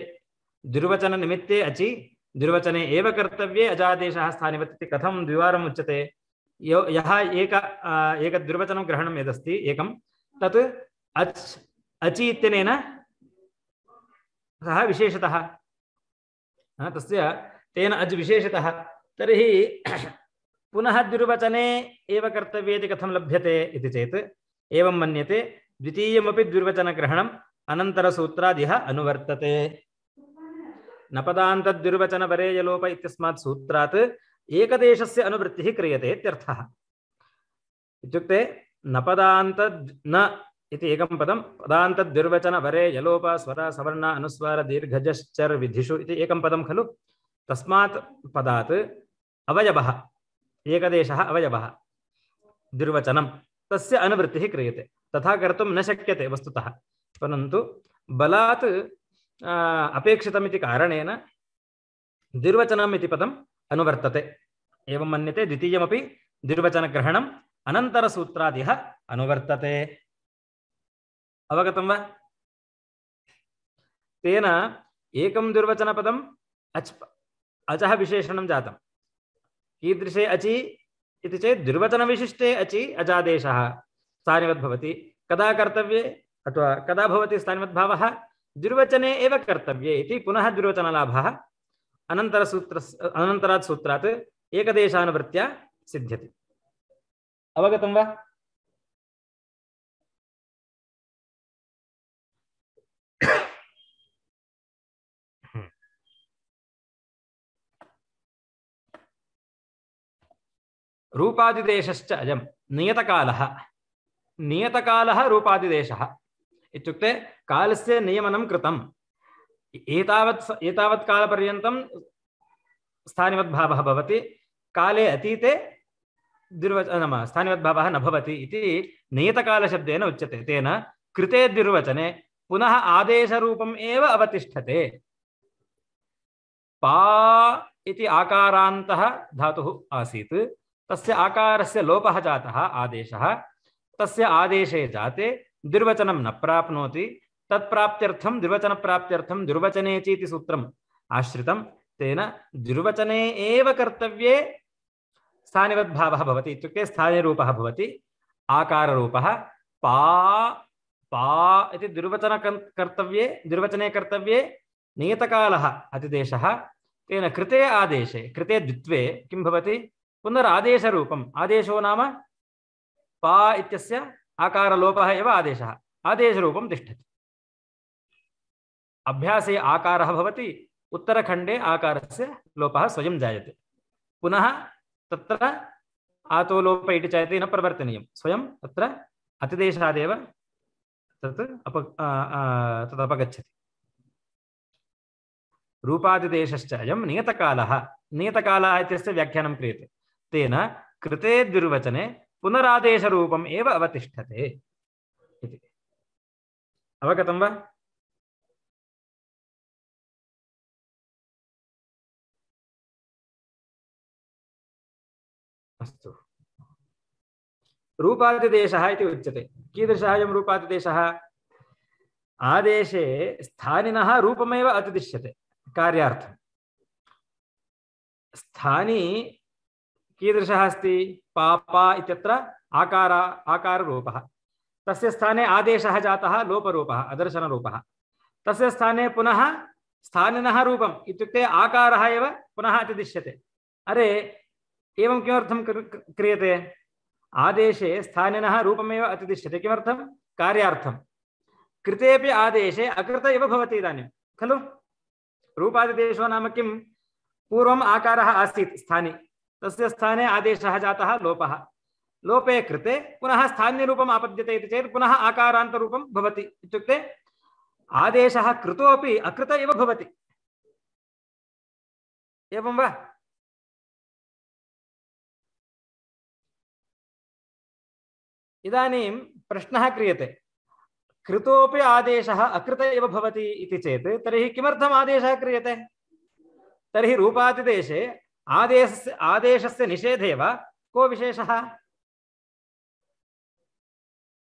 द्विर्वचननिमित्ते अचि द्विर्वचने एव कर्तव्ये अजादेशः स्थानिवत् इति कथं द्विवारम् उच्यते? यो यः एक एक द्विर्वचनं ग्रहणं यदस्ति एकं तत् अच् अचि इत्यनेन सः विशेषतः तस्य तेन अज् विशेषतः। तर्हि पुनः द्विर्वचने एव कर्तव्ये इति कथं लभ्यते इति चेत् एवं मन्यते। द्वितीयमपि द्विर्वचनग्रहणम् अनन्तरसूत्रादिह अनुवर्तते। नपदान्तद्विर्वचनपरेयलोप इत्यस्मात् सूत्रात् एकदेशस्य अनुवृत्तिः क्रियते इत्यर्थः। इत्युक्ते नपदान्त न इति एकं पदं पदान्तद्विर्वचनपरेयलोप स्वर सवर्ण अनुस्वार दीर्घजश्चर् विधिषु इति एकं पदं खलु। तस्मात् पदात् अवयवः एकदेशः अवयवः द्विर्वचनं तस्य अनुवृत्तिः क्रियते। तथा कर्तुं न शक्यते वस्तुतः, परन्तु बलात् अपेक्षितमिति कारणेन द्विर्वचनम् इति पदम् अनुवर्तते। एवं मन्यते द्वितीयमपि द्विर्वचनग्रहणम् अनन्तरसूत्रादिह अनुवर्तते। अवगतं वा? तेन एकं द्विर्वचनपदम् अच् अचः विशेषणं जातं। कीदृशे अचि इति चेत् द्विर्वचनविशिष्टे अचि अजादेशः स्थानिवद्भवति। कदा कर्तव्ये अथवा कदा भवति स्थानिवद्भावः? द्विर्वचने एव कर्तव्ये इति पुनः द्विर्वचनलाभः अनन्तरसूत्रस्य अनन्तरात् सूत्रात् एकदेशानुवृत्त्या सिद्ध्यति। अवगतं वा? रूपादिदेशश्च अयं नियतकालः। नियतकालः रूपादिदेशः इत्युक्ते कालस्य नियमनं कृतम्। एतावत् एतावत् कालपर्यन्तं स्थानिवद्भावः भवति, काले अतीते द्विर्वचन नाम स्थानिवद्भावः न भवति इति नियतकालशब्देन उच्यते। तेन कृते द्विर्वचने पुनः आदेशरूपम् एव अवतिष्ठते। पा इति आकारान्तः धातुः आसीत्, तस्य आकारस्य लोपः जातः आदेशः। तस्य आदेशे जाते द्विर्वचनं न प्राप्नोति। तत्प्राप्त्यर्थं द्विर्वचनप्राप्त्यर्थं द्विर्वचनेचि इति सूत्रम् आश्रितं। तेन द्विर्वचने एव कर्तव्ये स्थानिवद्भावः भवति। इत्युक्ते स्थानिरूपः भवति आकाररूपः। पा पा इति द्विर्वचन कर्तव्ये द्विर्वचने कर्तव्ये नियतकालः अतिदेशः। तेन कृते आदेशे कृते द्वित्वे किं भवति? पुनरादेशरूपम्। आदेशो नाम पा इत्यस्य आकारलोपः एव आदेशः। आदेशरूपं तिष्ठति। अभ्यासे आकारः भवति, उत्तरखण्डे आकारस्य लोपः स्वयं जायते। पुनः तत्र आतो लोप इति चयति न प्रवर्तनीयं, स्वयं तत्र अतिदेशादेव तत् अप तदपगच्छति। रूपादिदेशश्च अयं नियतकालः। नियतकालः इत्यस्य व्याख्यानं क्रियते। तेन कृते द्विर्वचने पुनरादेशरूपम् एव अवतिष्ठते इति। अवगतं वा? अस्तु। रूपादिदेशः इति उच्यते। कीदृशः अयं रूपादिदेशः? आदेशे स्थानिनः रूपमेव अतिदिश्यते कार्यार्थं। स्थानी कीदृशः अस्ति? पापा इत्यत्र आकार आकाररूपः। तस्य स्थाने आदेशः जातः लोपरूपः अदर्शनरूपः। तस्य स्थाने पुनः स्थानिनः रूपम् इत्युक्ते आकारः एव पुनः अतिदिश्यते। अरे एवं किमर्थं क्रियते? आदेशे स्थानिनः रूपमेव अतिदिश्यते। किमर्थं? कार्यार्थं। कृतेपि आदेशे अकृत एव भवति इदानीं खलु। रूपादिदेशो नाम किं? पूर्वम् आकारः आसीत् स्थाने, तस्य स्थाने आदेशः जातः लोपः। लोपे कृते पुनः स्थान्यरूपम् आपद्यते इति चेत् पुनः आकारान्तरूपं भवति। इत्युक्ते आदेशः कृतोपि अकृत एव भवति। एवं वा? इदानीं प्रश्नः क्रियते, कृतोपि आदेशः अकृत एव भवति इति चेत् तर्हि किमर्थम् आदेशः क्रियते? तर्हि रूपादिदेशे आदेशस्य आदेशस्य निषेधे वा को विशेषः?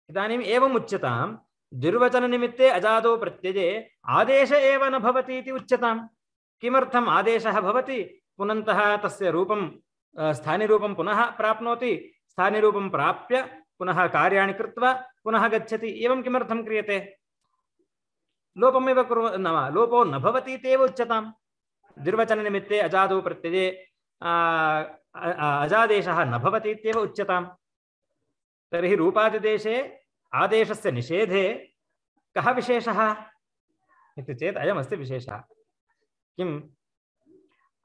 इदानीम् एवम् उच्यतां, द्विर्वचननिमित्ते अजादो प्रत्यये आदेश एव न भवति इति उच्यतां। किमर्थम् आदेशः भवति? पुनन्तः तस्य रूपं स्थानिरूपं पुनः प्राप्नोति। स्थानिरूपं प्राप्य पुनः कार्याणि कृत्वा पुनः गच्छति। एवं किमर्थं क्रियते? लोपमेव कुर्व नाम लोपो न भवति इत्येव उच्यताम्। द्विर्वचननिमित्ते अजादो प्रत्यये अजादेशः न भवति इत्येव उच्यताम्। तर्हि रूपादिदेशे आदेशस्य निषेधे कः विशेषः इति चेत् अयमस्ति विशेषः। किम्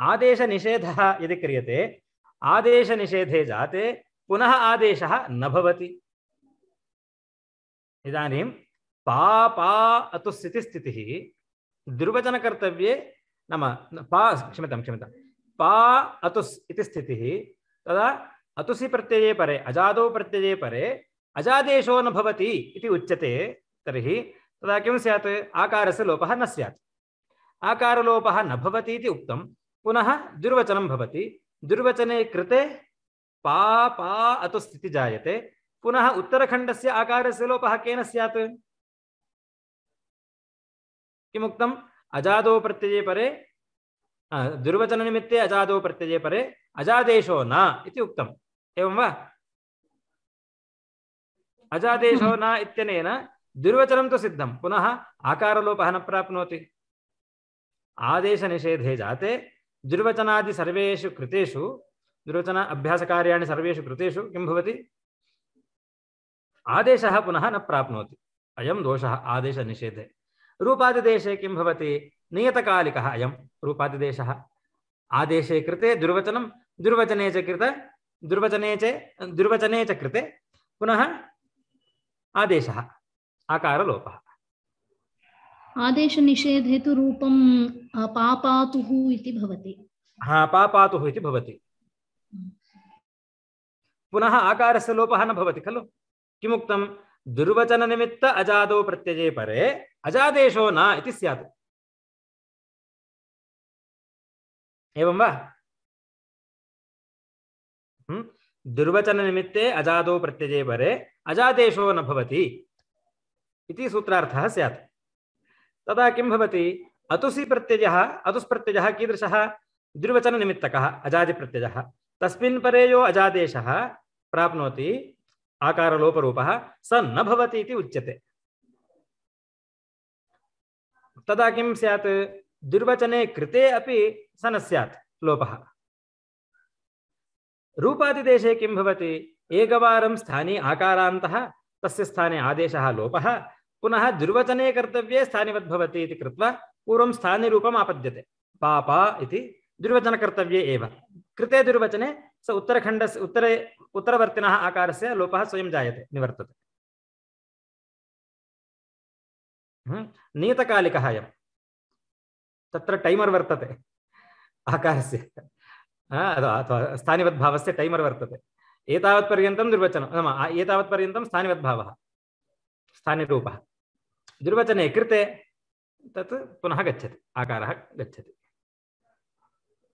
आदेशनिषेधः यदि क्रियते आदेशनिषेधे जाते पुनः आदेशः न भवति। इदानीं पा पा अतुस् इति स्थितिः द्विर्वचनकर्तव्ये नाम पा क्षम्यतां क्षम्यतां पा अतुस् इति स्थितिः तदा अतुसि प्रत्यये परे अजादौ प्रत्यये परे अजादेशो न भवति इति उच्यते। तर्हि तदा किं स्यात् आकारस्य लोपः न स्यात्। आकारलोपः न भवति इति उक्तं पुनः दुर्वचनं भवति। दुर्वचने कृते पा पा अतुस् इति जायते पुनः उत्तरखण्डस्य आकारस्य लोपः केन स्यात् किमुक्तम् अजादौ प्रत्यये परे दुर्वचननिमित्ते अजादौ प्रत्यये परे अजादेशो न इति उक्तम् एवं वा। अजादेशो न इत्यनेन दुर्वचनं तु सिद्धं पुनः आकारलोपः न प्राप्नोति। आदेशनिषेधे जाते दुर्वचनादि सर्वेषु कृतेषु दुर्वचन अभ्यासकार्याणि सर्वेषु कृतेषु किं भवति आदेशः पुनः न प्राप्नोति। अयं दोषः आदेशनिषेधे। रूपादिदेशे किं भवति नियतकालिकः अयं रूपादिदेशः। आदेशे कृते दुर्वचनं दुर्वचने च कृते दुर्वचने च दुर्वचने च कृते पुनः आदेशः आकारलोपः। आदेशनिषेधे तु रूपं पापातुः इति भवति। हाँ पापातुः इति भवति। पुनः आकारस्य लोपः न भवति खलु। किमुक्तं दुर्वचननिमित्त अजादौ प्रत्यये परे अजादेशो न इति स्यात् एवं वा। दुर्वचननिमित्ते अजादौ प्रत्यये परे अजादेशो न भवति इति सूत्रार्थः स्यात्। तदा किं भवति अतुसि प्रत्ययः अतुस् प्रत्ययः कीदृशः दुर्वचननिमित्तकः अजादिप्रत्ययः तस्मिन् परे यो अजादेशः प्राप्नोति आकारलोपरूपः स न भवति इति उच्यते। तदा किं स्यात् दुर्वचने कृते अपि स न स्यात् लोपः। रूपादिदेशे किं भवति एकवारं स्थाने आकारान्तः तस्य स्थाने आदेशः लोपः पुनः दुर्वचने कर्तव्ये स्थानिवद्भवति इति कृत्वा पूर्वं स्थानिरूपम् आपद्यते। पापा इति दुर्वचनकर्तव्ये एव कृते दुर्वचने स उत्तरखण्डस्य उत्तरे उत्तरवर्तिनः आकारस्य लोपः स्वयं जायते निवर्तते। नियतकालिकः अयं तत्र टैमर् वर्तते आकारस्य अथवा स्थानिवद्भावस्य टैमर् वर्तते। एतावत्पर्यन्तं दुर्वचनं नाम एतावत्पर्यन्तं स्थानिवद्भावः स्थानिरूपः दुर्वचने कृते तत् पुनः गच्छति आकारः गच्छति।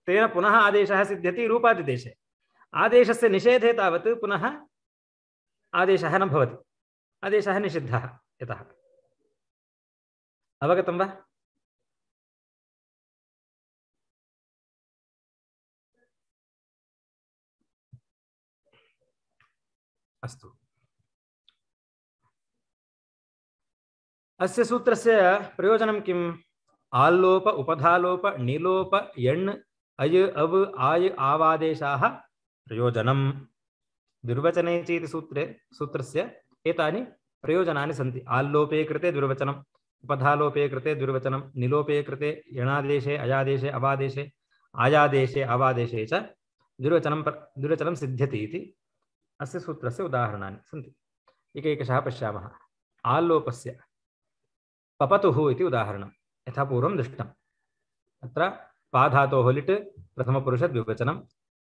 तेन पुनः आदेशः सिद्ध्यति रूपादिदेशे। आदेशस्य निषेधे तावत् पुनः आदेशः न भवति आदेशः निषिद्धः यतः। अवगतं वा। अस्तु अस्य सूत्रस्य प्रयोजनं किम् आल्लोप उपधालोप निलोप यण् अय अव आय आवादेशाः प्रयोजनं दुर्वचने चेति सूत्रे सूत्रस्य एतानि प्रयोजनानि सन्ति। आल्लोपे कृते दुर्वचनम् उपधालोपे कृते दुर्वचनं निलोपे कृते यणादेशे अयादेशे अवादेशे आयादेशे अवादेशे च दुर्वचनं दुर्वचनं सिद्ध्यति इति अस्य सूत्रस्य उदाहरणानि सन्ति। एकैकशः पश्यामः। आल्लोपस्य पपतुः इति उदाहरणं यथा पूर्वं दृष्टम्। अत्र पा धातोः लिट् प्रथमपुरुषद्विवचनं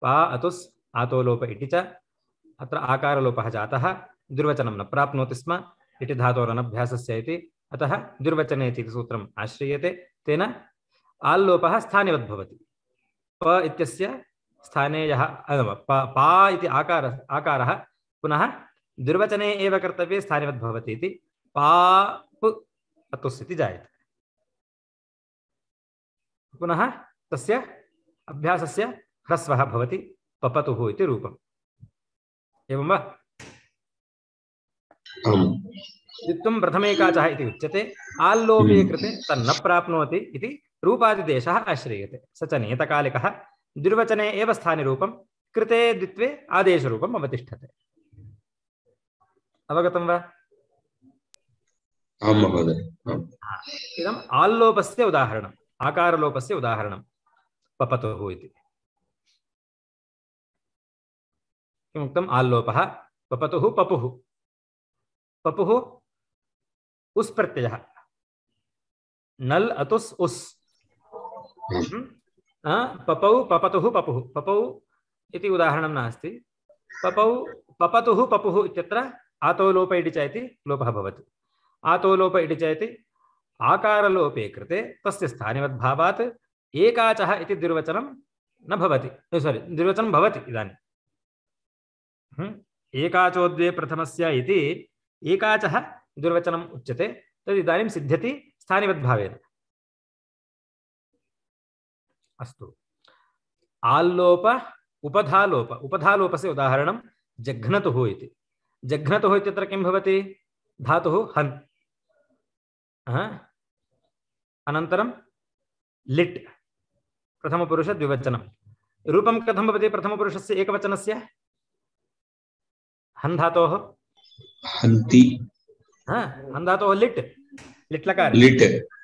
पा अतुस् आतोलोप इति च अत्र आकारलोपः जातः दुर्वचनं न प्राप्नोति स्म इति धातोरनभ्यासस्य इति अतः दुर्वचने इति सूत्रम् आश्रयते। तेन आल्लोपः स्थानिवद्भवति। प इत्यस्य स्थाने यः पा इति आकार आकारः पुनः दुर्वचने एव कर्तव्ये स्थानिवद्भवति इति पाप् अतुस् इति जायते। पुनः तस्य अभ्यासस्य ह्रस्वः भवति पपतुः इति रूपम् एवं वा। द्वित्वं प्रथमेकाचः इति उच्यते। आल्लोपे कृते तन्न प्राप्नोति इति रूपादिदेशः आश्रयते। स च नियतकालिकः दुर्वचने एव स्थानिरूपं कृते द्वित्वे आदेशरूपम् अवतिष्ठते। अवगतं वा। आम् महोदय। इदम् आल्लोपस्य उदाहरणम्, आकारलोपस्य उदाहरणं पपतुः इति। किमुक्तम्? आल्लोपः। पपतुः पपुः, पपुः उस् प्रत्ययः, नल् अतुस् उस्। पपौ पपतुः पपुः, पपौ इति उदाहरणं नास्ति। पपौ पपतुः पपुः इत्यत्र आतो लोप इति चेति लोपः भवति। आतो लोप इति चेति आकारलोपे कृते तस्य स्थानिवद्भावात् एकाचः इति द्विर्वचनं न भवति, सोरि द्विर्वचनं भवति। इदानीं एकाचो द्वे प्रथमस्य इति एकाचः द्विर्वचनम् उच्यते, तद् इदानीं सिद्ध्यति स्थानिवद्भावेन। अस्तु, आल्लोप उपधालोप, उपधालोपस्य उदाहरणं जघ्नतुः इति। जघ्नतुः इत्यत्र किं भवति? धातुः हन्, अनन्तरं लिट्, प्रथमपुरुष द्विवचनं। रूपं कथं भवति प्रथमपुरुषस्य एकवचनस्य? हन् धातोः हन्ति, हन् धातोः लिट्, लिट् लकार, लिट्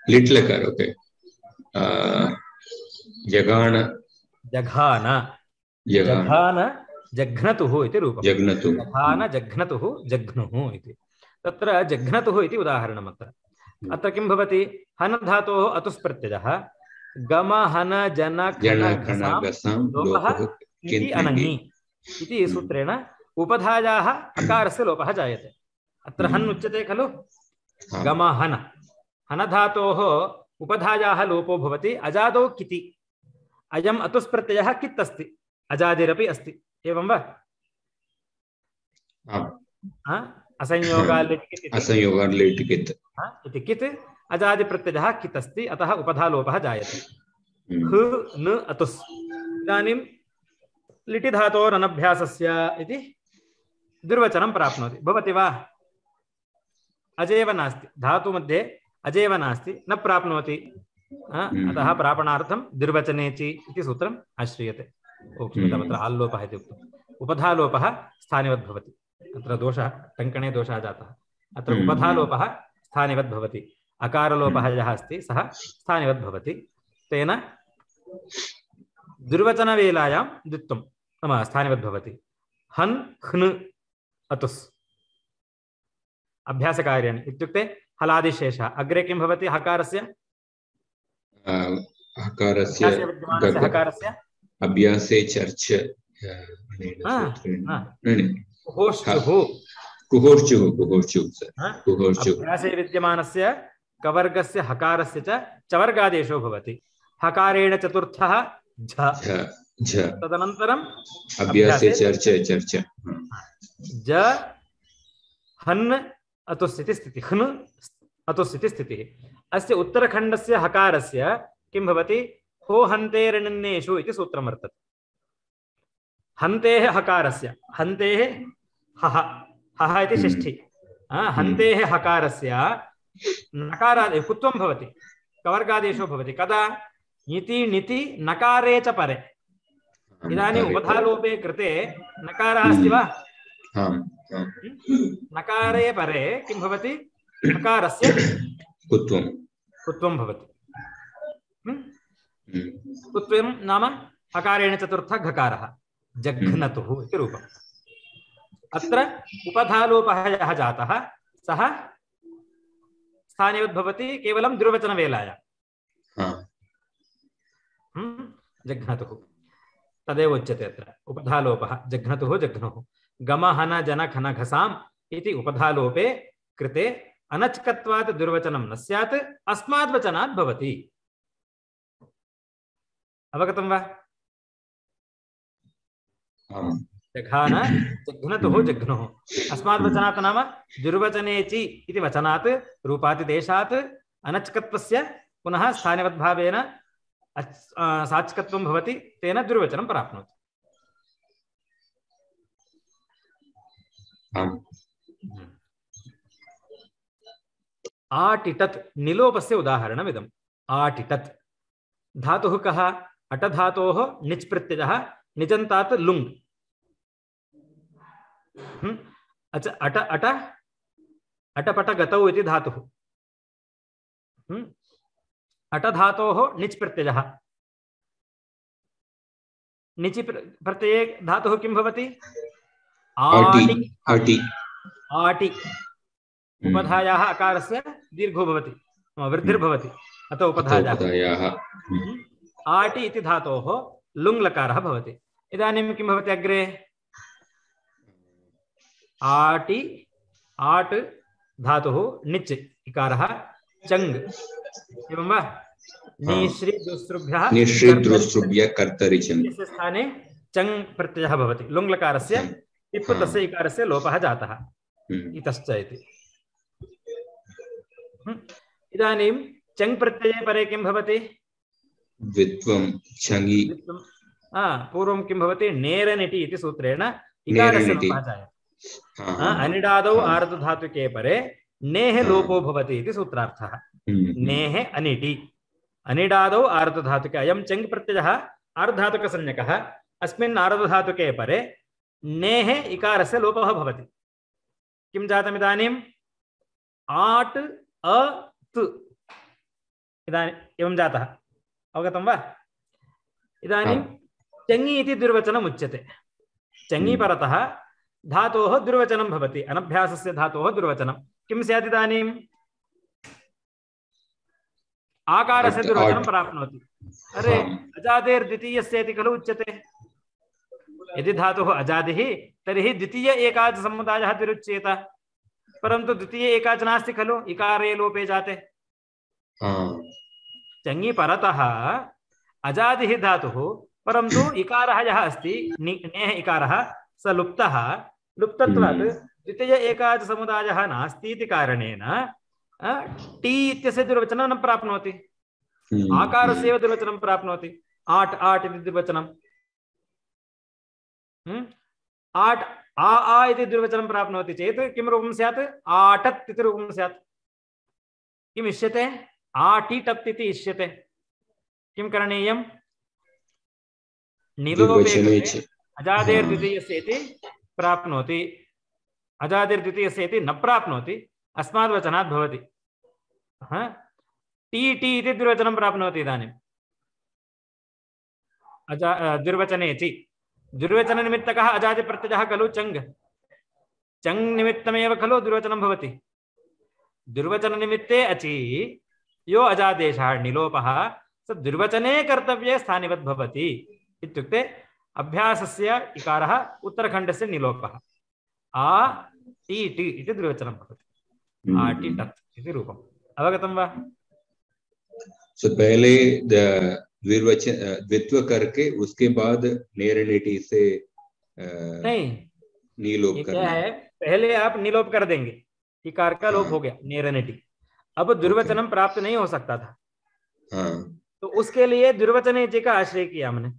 लिट् लकार। ओके। जगान, जघान, जघान जघ्नतुः इति रूपं। जघ्नतुः, जघान जघ्नतुः जघ्नुः इति। तत्र जघ्नतुः इति उदाहरणम्। अत्र अत्र किं भवति? हन् धातोः अतुस् प्रत्ययः, गम हन जन खन घसां लोपः इति अनङि इति सूत्रेण उपधायाः अकारस्य लोपः जायते। अत्र हन् उच्यते खलु, गम हन, हन धातोः उपधायाः लोपो भवति अजादौ किति। अयम् अतुस् प्रत्ययः कित् अस्ति, अजादिरपि अस्ति, एवं वा? असंयोगाल् असंयोगाल् लिट् कित् इति कित् अजादि प्रत्ययः कित् अस्ति, अतः उपधा लोपः जायते। ह न अतुस्। इदानीं लिटि धातोरनभ्यासस्य इति दुर्वचनं प्राप्नोति, भवति वा? अजेव नास्ति, धातु मध्ये अजेव नास्ति, न प्राप्नोति। अतः प्रापणार्थं दुर्वचनेचि इति सूत्रम् आश्रियते। तत्र आल्लोपः इति उक्तम्। उपधालोपः स्थानिवद् भवति। अत्र दोषः, टङ्कणे दोषः जातः। अत्र उपधालोपः स्थानिवद् भवति। अकारलोपः यः अस्ति सः स्थानिवद् भवति। तेन दुर्वचनवेलायां द्वित्वं नाम स्थानिवद् भवति। हन् ह्न् अतुस् अभ्यासकार्याणि इत्युक्ते हलादिशेषः। अग्रे किं भवति? हकारस्य हकारस्य विद्यमानस्य हकारस्य अभ्यासे चर्च कुहोर्चुः, कुहोर्चुः कुहोर्चुः कुहोर्चुः अभ्यासे विद्यमानस्य कवर्गस्य हकारस्य च चवर्गादेशो भवति। हकारेण चतुर्थः झ, झ, तदनन्तरम् अभ्यासे चर्च चर्च ज हन् अतुस् इति स्थितिः, हन् अतुस् इति स्थितिः। अस्य उत्तरखण्डस्य हकारस्य किं भवति? हो हन्तेरनिन्नेषु इति सूत्रं वर्तते। हन्तेः हकारस्य, हन्तेः हः, हः इति षष्ठी, हन्तेः हकारस्य नकारादि कुत्वं भवति, कवर्गादेशो भवति। कदा? इति निति नकारे च परे। इदानीम् उपधालोपे कृते नकारः अस्ति वा? नकारे परे किं भवति? नकारस्य कुत्वं कुत्वं भवति। कुत्वं नाम हकारेण चतुर्थ घकारः, जघ्नतुः इति रूपम्। अत्र उपधालोपः यः जातः सः स्थानिवद् भवति केवलं द्विर्वचनवेलायां। जघ्नतुः तदेव उच्यते अत्र उपधालोपः। जघ्नतुः जघ्नुः। गम हन जन खन घसाम् इति उपधालोपे कृते अनच्कत्वात् दुर्वचनं न स्यात्, अस्माद् वचनात् भवति। अवगतं वा? जघान जघ्नतुः जघ्नुः। अस्माद् वचनात् नाम दुर्वचनेचि इति वचनात् रूपातिदेशात् अनच्कत्वस्य पुनः स्थानिवद्भावेन साच्कत्वं भवति, तेन दुर्वचनं प्राप्नोति। आटिटत् निलोपस्य उदाहरणमिदम्। आटिटत् धातुः कः? अटधातोः निच् प्रत्ययः, निजन्तात् लुङ्। अच अट अट अटपट गतौ इति धातुः। हम्म अट धातोः निच् प्रत्ययः निचि प्रत्यये धातुः किं भवति आटि आटि आटि उपधायाः अकारस्य दीर्घो भवति वृद्धिर्भवति अतः उपधायाः आटि इति धातोः लुङ् लकारः भवति इदानीं किं भवति अग्रे आटि आट् धातुः निच् इकारः चङ् एवं वा निश्रिदुस्रुभ्यः निश्रिदुस्रुभ्यः कर्तरि चङ् इत्यस्य स्थाने चङ् प्रत्ययः भवति लुङ् लकारस्य इप् तस्य इकारस्य लोपः जातः इतश्च इति इदानीं चङ् प्रत्यये परे किं भवति द्वित्वं चङि हा पूर्वं किं भवति नेरनिटि इति सूत्रेण इकारस्य लोपः जायते अनिडादौ आर्धधातुके परे नेः लोपो भवति इति सूत्रार्थः नेः अनिटि अनिडादौ आर्धधातुके अयं चङ् प्रत्ययः आर्धधातुकसंज्ञकः अस्मिन् आर्धधातुके परे नेः इकारस्य लोपः भवति किं जातम् इदानीम् आट् अ तु इदानीम् एवं जातः अवगतं वा इदानीं चङि इति दुर्वचनम् उच्यते चङि परतः धातोः दुर्वचनं भवति अनभ्यासस्य धातोः दुर्वचनं किं स्यात् इदानीम् आकारस्य दुर्वचनं प्राप्नोति अरे अजादेर्द्वितीयस्य इति खलु उच्यते यदि धातुः अजादिः तर्हि द्वितीय एकाच समुदायः तिरुच्येत परन्तु द्वितीय एकाच नास्ति खलु इकारे लोपे जाते चङि परतः अजादिः धातुः परन्तु इकारः यः अस्ति नेः इकारः स लुप्तः लुप्तत्वात् द्वितीय एकाच समुदायः नास्ति इति कारणेन टी इत्यस्य दुर्वचनं न प्राप्नोति आकारस्य एव दुर्वचनं प्राप्नोति आट् आट् इति दुर्वचनं आट् आ आ इति दुर्वचनं प्राप्नोति चेत् किं रूपं स्यात् आटत् इति रूपं स्यात् किम् इष्यते आटिटत् इति इष्यते किं करणीयं निलोपे अजादेर्द्वितीयस्य इति प्राप्नोति अजादेर्द्वितीयस्य इति न प्राप्नोति अस्माद् वचनात् भवति टी टी इति दुर्वचनं प्राप्नोति इदानीम् अजा दुर्वचने चि दुर्वचननिमित्तकः अजादिप्रत्ययः खलु चङ् चङ् निमित्तमेव खलु दुर्वचनं भवति दुर्वचननिमित्ते अचि यो अजादेशः निलोपः स दुर्वचने कर्तव्ये स्थानिवद् भवति इत्युक्ते अभ्यासस्य इकारः उत्तरखण्डस्य निलोपः आ टी टी इति दुर्वचनं भवति आ टी टत् इति रूपम् अवगतं वा सो पहले द्विर्वचन द्वित्व करके उसके बाद नेरनिटी से नहीं नीलोप करना है पहले आप निलोप कर देंगे इकार का लोप हो गया नेरनिटी अब दुर्वचनम प्राप्त नहीं हो सकता था हाँ तो उसके लिए दुर्वचने जी का आश्रय किया हमने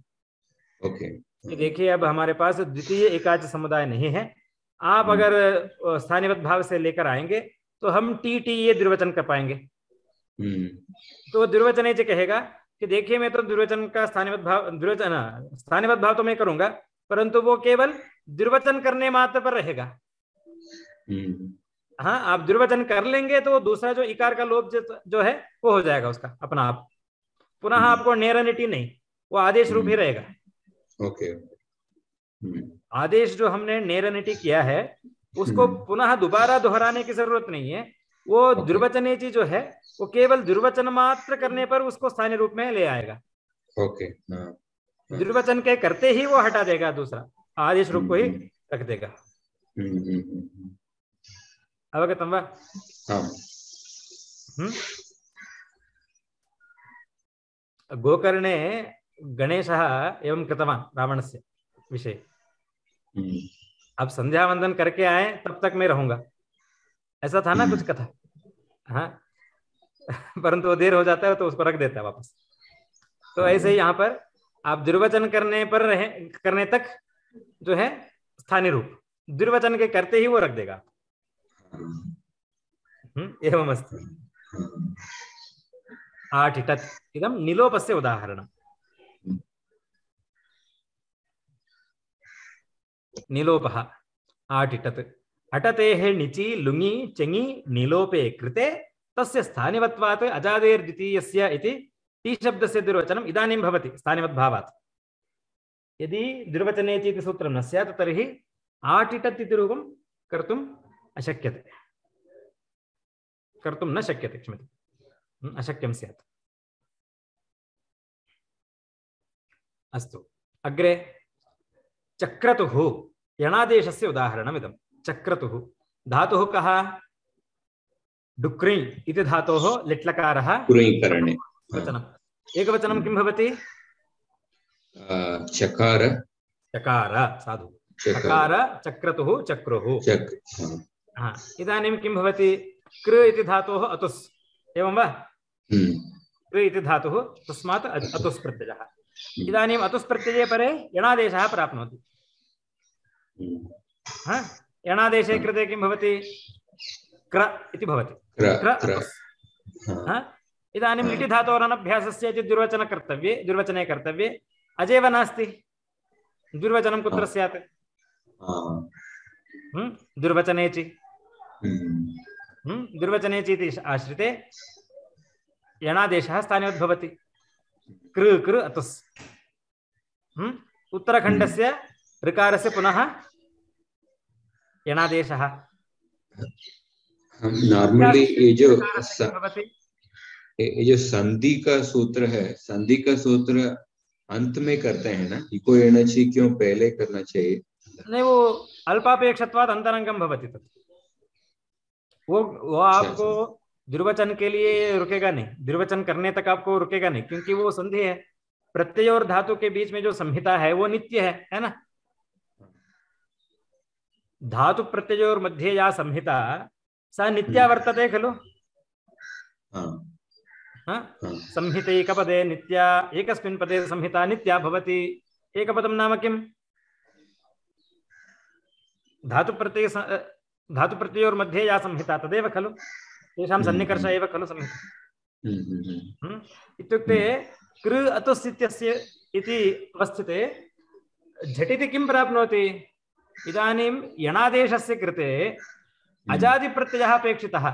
ओके देखिए अब हमारे पास द्वितीय एकाच समुदाय नहीं है आप अगर स्थानीय भाव से लेकर आएंगे तो हम टी टी ये दुर्वचन कर पाएंगे तो दुर्वचने जी कहेगा कि देखिए मैं तो दुर्वचन का स्थानीय भाव दुर्वचन स्थानीय भाव तो मैं करूंगा परंतु वो केवल दुर्वचन करने मात्र पर रहेगा हाँ आप दुर्वचन कर लेंगे तो दूसरा जो इकार का लोप जो है वो हो जाएगा उसका अपना आप पुनः आपको नेरनिटी नहीं वो आदेश रूप ही रहेगा ओके आदेश जो हमने नेरनिटी किया है उसको पुनः दोबारा दोहराने की जरूरत नहीं है वो दुर्वचनेची जो है वो केवल दुर्वचन मात्र करने पर उसको स्थानीय रूप में ले आएगा ओके दुर्वचन के करते ही वो हटा देगा दूसरा आदेश रूप को ही रख देगा अवगतं वा गोकर्णे गणेशः एवं कृतवान् रावणस्य विषय अब संध्या वंदन करके आए तब तक मैं रहूंगा ऐसा था ना कुछ कथा हाँ परंतु वो देर हो जाता है तो उसको रख देता है वापस तो ऐसे ही यहाँ पर आप दुर्वचन करने पर रहे करने तक जो है स्थानीय रूप दुर्वचन के करते ही वो रख देगा एवं अस्ति आटिटत् इदं निलोपस्य उदाहरणम् निलोपः आटिटत् अटतेः निचि लुङि चङि निलोपे कृते तस्य स्थानिवत्वात् अजादेर्द्वितीयस्य इति टी शब्दस्य दुर्वचनम् इदानीं भवति स्थानिवद्भावात्। यदि दुर्वचने इति सूत्रं न स्यात् तर्हि आटिटत् इति रूपं कर्तुम् अशक्यते, कर्तुं न शक्यते, क्षम्यताम्, अशक्यं स्यात्। अस्तु, अग्रे चक्रतुः यणादेशस्य उदाहरणमिदं। चक्रतुः धातुः कः? डुक्री इति धातोः लिट्लकारः कुरीकरणे वचनम्। एकवचनं किं भवति? चकार चकार। साधु। चकार चक्रतुः चक्रुः। हा, इदानीं किं भवति? कृ इति धातोः अतुस्, एवं वा? कृ इति धातुः, तस्मात् अतुस् प्रत्ययः। इदानीम् अतुस् प्रत्यये परे यणादेशः प्राप्नोति। हा, यणादेशे कृते किं भवति? क्र इति भवति। क्र अतुस्। हा, इदानीं लिटि धातोरनभ्यासस्य इति दुर्वचनकर्तव्ये, दुर्वचने कर्तव्ये अजेव नास्ति। दुर्वचनं कुत्र स्यात्? दुर्वचनेचि। दुर्वचनेचि इति आश्रिते यणादेशः स्थानिवद्भवति। कृ कृ अतुस्। उत्तरखण्डस्य ऋकारस्य पुनः यणादेशः। नॉर्मली ये जो ये जो संधि का सूत्र है, संधि का सूत्र अंत में करते हैं ना, इको एनर्जी क्यों पहले करना चाहिए? नहीं, वो अल्पापेक्षत्वात् अंतरंगम भवति तत्। वो वो आपको दुर्वचन के लिए रुकेगा नहीं, दुर्वचन करने तक आपको रुकेगा नहीं, क्योंकि वो संधि है। प्रत्यय और धातु के बीच में जो संहिता है वो नित्य है, है ना? धातु प्रत्यय और मध्ये या संहिता सा नित्या वर्तते खलु। संहितैकपदे नित्या, एकस्मिन् पदे संहिता नित्या भवति। एकपदं नाम किम्? धातु प्रत्यय धातु प्रत्ययोर् मध्ये या संहिता तदेव खलु, तेषां सन्निकर्ष एव खलु संहिता। इत्युक्ते कृ अतुस् इत्यस्य इति अवस्थिते झटिति किं प्राप्नोति? इदानीं यणादेशस्य कृते अजादिप्रत्ययः अपेक्षितः।